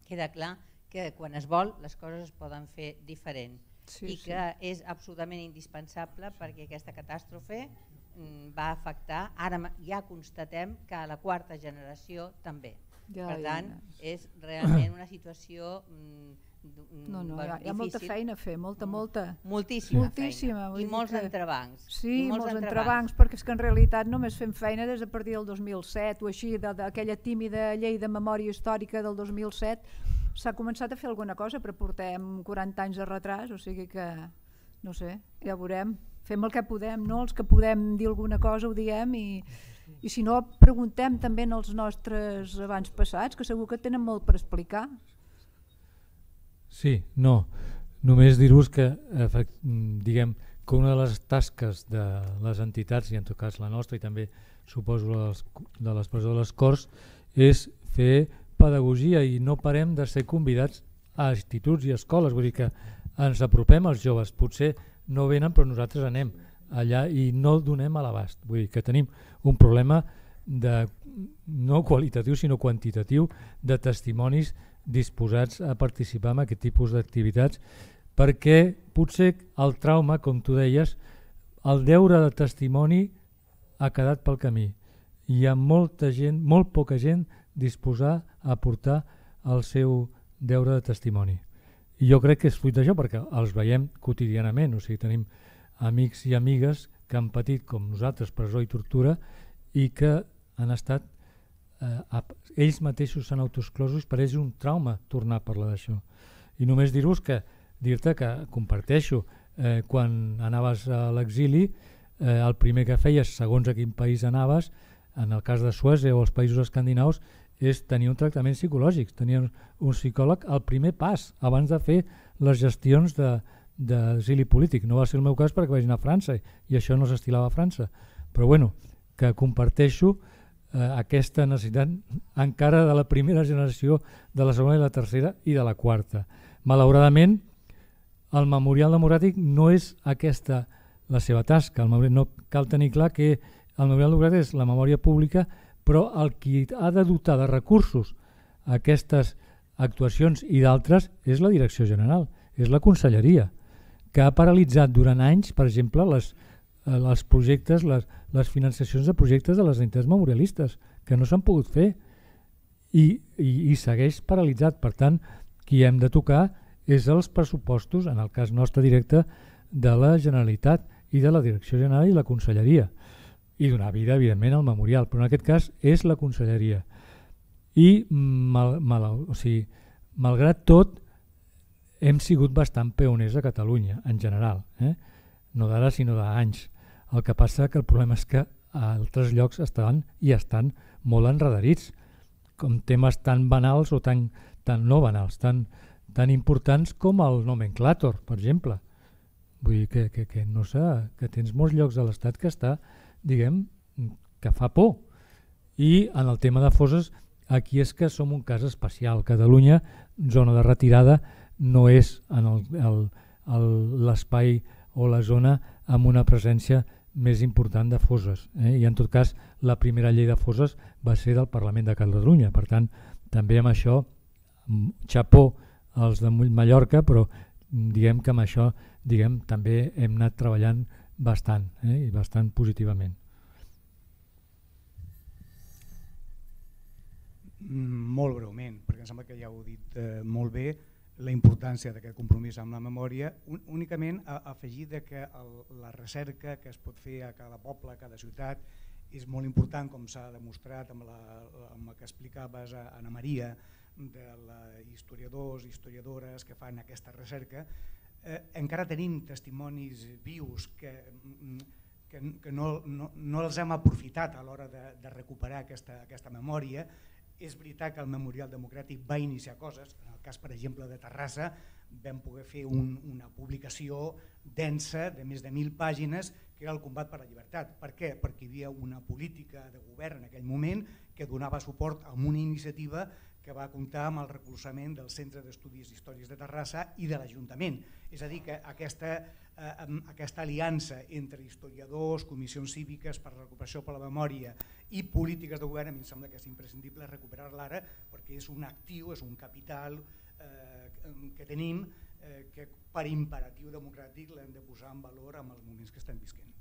queda clar que quan es vol les coses es poden fer diferent sí, i que sí. És absolutament indispensable perquè aquesta catàstrofe va afectar, ara ja constatem que a la quarta generació també. Ja, per tant, ja. És realment una situació No, no, hi ha, hi ha molta feina a fer, molta, molta. Moltíssima, Moltíssima feina. I molts que... entrebancs. Sí, I molts, molts entrebancs. entrebancs, perquè és que en realitat només fem feina des de partir del dos mil set o així, d'aquella tímida llei de memòria històrica del dos mil set, s'ha començat a fer alguna cosa, però portem quaranta anys de retras, o sigui que, no sé, ja veurem. Fem el que podem, no? Els que podem dir alguna cosa ho diem i, i si no preguntem també als nostres abans passats, que segur que tenen molt per explicar. Sí, no, només dir-vos que diguem que una de les tasques de les entitats, i en tot cas la nostra i també suposo les, de l'expressió de les Corts, és fer pedagogia i no parem de ser convidats a instituts i escoles, vull dir que ens apropem als joves, potser no venen però nosaltres anem allà i no el donem a l'abast, vull dir que tenim un problema de, no qualitatiu sinó quantitatiu de testimonis disposats a participar en aquest tipus d'activitats perquè potser el trauma, com tu deies, el deure de testimoni ha quedat pel camí. Hi ha molta gent, molt poca gent disposada a aportar el seu deure de testimoni. I jo crec que és fruit d'això perquè els veiem quotidianament, o sigui, tenim amics i amigues que han patit com nosaltres presó i tortura i que han estat, eh, ells mateixos s'han autoexclosos, per ells és un trauma tornar a parlar d'això. I només dir-vos que, dir-te que comparteixo, eh, quan anaves a l'exili, eh, el primer que feies, segons a quin país anaves, en el cas de Suècia o els països escandinaus, és tenir un tractament psicològic, tenir un psicòleg al primer pas, abans de fer les gestions d'exili polític. No va ser el meu cas perquè vaig anar a França i això no s'estilava a França. Però bueno, que comparteixo eh, aquesta necessitat encara de la primera generació, de la segona i la tercera i de la quarta. Malauradament, el Memorial Democràtic no és aquesta la seva tasca. El memorial, no cal tenir clar que el Memorial Democràtic és la memòria pública, però el qui ha de dotar de recursos aquestes actuacions i d'altres és la Direcció General, és la Conselleria, que ha paralitzat durant anys, per exemple, les, els projectes, les, les financiacions de projectes de les entitats memorialistes, que no s'han pogut fer i, i, i segueix paralitzat. Per tant, qui hem de tocar és els pressupostos, en el cas nostre directe, de la Generalitat i de la Direcció General i la Conselleria, i donar vida, evidentment, al memorial, però en aquest cas és la Conselleria. I, mal, mal, o sigui, malgrat tot, hem sigut bastant pioners a Catalunya, en general, eh? No d'ara, sinó d'anys. El que passa que el problema és que a altres llocs estan i estan molt enredarits, com temes tan banals o tan, tan no banals, tan, tan importants com el nomenclàtor, per exemple. Vull dir que, que, que, no sé, que tens molts llocs de l'Estat que està, diguem, que fa por. I en el tema de fosses, aquí és que som un cas especial. Catalunya, zona de retirada, no és en l'espai o la zona amb una presència més important de fosses. Eh? I en tot cas, la primera llei de fosses va ser del Parlament de Catalunya. Per tant, també amb això, xapó als de Mallorca, però diguem que amb això diguem, també hem anat treballant bastant, eh? I bastant positivament. Molt breument, perquè em sembla que ja ho he dit eh, molt bé, la importància d'aquest compromís amb la memòria, un, únicament a, a afegir de que el, la recerca que es pot fer a cada poble, a cada ciutat, és molt important, com s'ha demostrat amb la, amb la que explicaves a Anna Maria, de la historiadors i historiadores que fan aquesta recerca. Eh, encara tenim testimonis vius que, que, que no, no, no els hem aprofitat a l'hora de, de recuperar aquesta, aquesta memòria. És veritat que el Memorial Democràtic va iniciar coses, en el cas per exemple de Terrassa vam poder fer un, una publicació densa de més de mil pàgines que era el combat per la llibertat. Per què? Perquè hi havia una política de govern en aquell moment que donava suport a una iniciativa que va comptar amb el recolzament del Centre d'Estudis d'Històries de Terrassa i de l'Ajuntament. És a dir, que aquesta, eh, aquesta aliança entre historiadors, comissions cíviques per la recuperació per la memòria i polítiques de govern, a mi em sembla que és imprescindible recuperar-la ara perquè és un actiu, és un capital eh, que tenim eh, que per imperatiu democràtic l'hem de posar en valor amb els moments que estem visquent.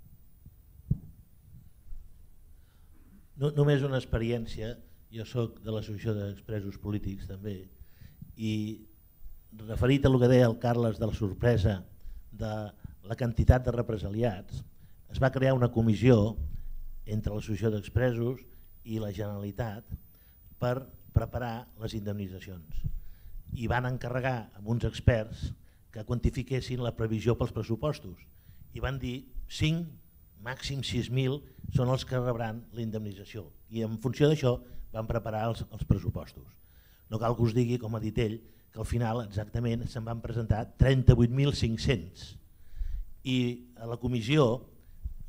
No, només una experiència. Jo soc de l'Associació d'Expresos Polítics també i referit a el que deia el Carles de la sorpresa de la quantitat de represaliats, es va crear una comissió entre l'Associació d'Expresos i la Generalitat per preparar les indemnitzacions. I van encarregar amb uns experts que quantifiquessin la previsió pels pressupostos. I van dir cinc, màxim sis mil són els que rebran la indemnització. I en funció d'això van preparar els, els pressupostos. No cal que us digui, com ha dit ell, que al final exactament se'n van presentar trenta-vuit mil cinc-cents. I a la comissió,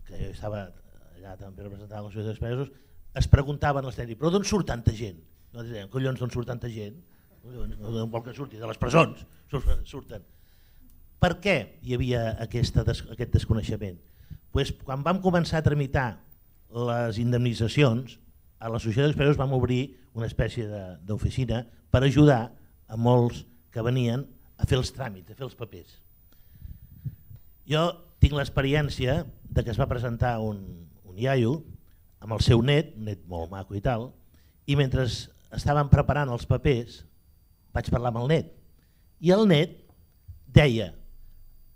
que jo estava allà també representant l'Associació d'Expresos, es preguntaven els tècnics, però d'on surt tanta gent? No dèiem, collons, d'on surt tanta gent? No vol que surti, de les presons surten. Per què hi havia aquesta, aquest desconeixement? Pues quan vam començar a tramitar les indemnitzacions, a l'Associació d'Expresos vam obrir una espècie d'oficina per ajudar a molts que venien a fer els tràmits, a fer els papers. Jo tinc l'experiència de que es va presentar un, un iaio amb el seu net, un net molt maco i tal, i mentre estaven preparant els papers vaig parlar amb el net i el net deia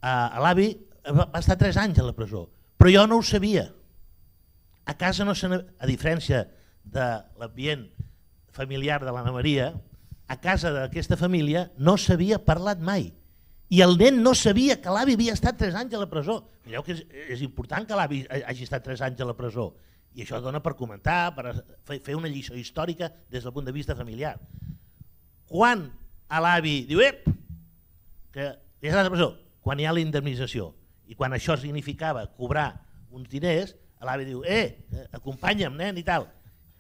a l'avi va estar tres anys a la presó, però jo no ho sabia. A casa no se n'havia, a diferència de l'ambient familiar de l'Anna Maria, a casa d'aquesta família no s'havia parlat mai. I el nen no sabia que l'avi havia estat tres anys a la presó. Mireu que és, és important que l'avi hagi estat tres anys a la presó. I això dona per comentar, per fer una lliçó històrica des del punt de vista familiar. Quan a l'avi diu, ep, que ja està a la presó, quan hi ha la indemnització, i quan això significava cobrar uns diners, l'avi diu, eh, acompanya'm, nen, i tal.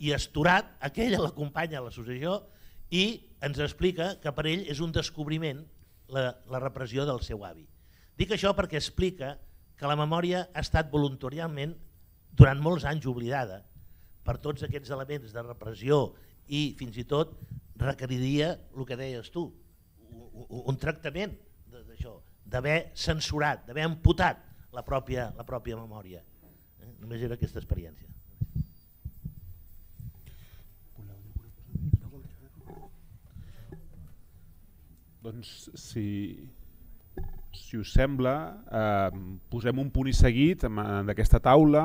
I Estorat, aquella l'acompanya a l'associació i ens explica que per ell és un descobriment la, la repressió del seu avi. Dic això perquè explica que la memòria ha estat voluntàriament durant molts anys oblidada per tots aquests elements de repressió i fins i tot requeriria el que deies tu, un, un tractament d'això, d'haver censurat, d'haver amputat la pròpia, la pròpia memòria. Eh? Només era aquesta experiència. Doncs si, si us sembla, eh, posem un punt i seguit d'aquesta taula.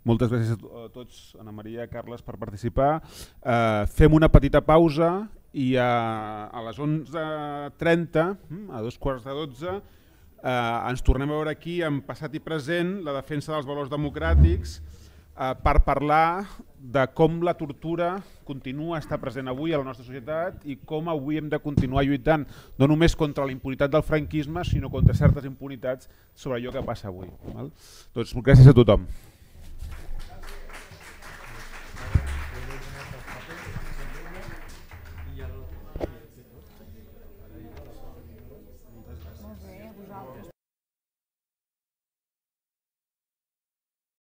Moltes gràcies a tots, Anna Maria, Carles, per participar. Eh, fem una petita pausa i a, a les onze trenta, a dos quarts de dotze, eh, ens tornem a veure aquí en passat i present la defensa dels valors democràtics eh, per parlar de com la tortura continua a estar present avui a la nostra societat i com avui hem de continuar lluitant no només contra la impunitat del franquisme, sinó contra certes impunitats sobre allò que passa avui. Val? Doncs gràcies a tothom.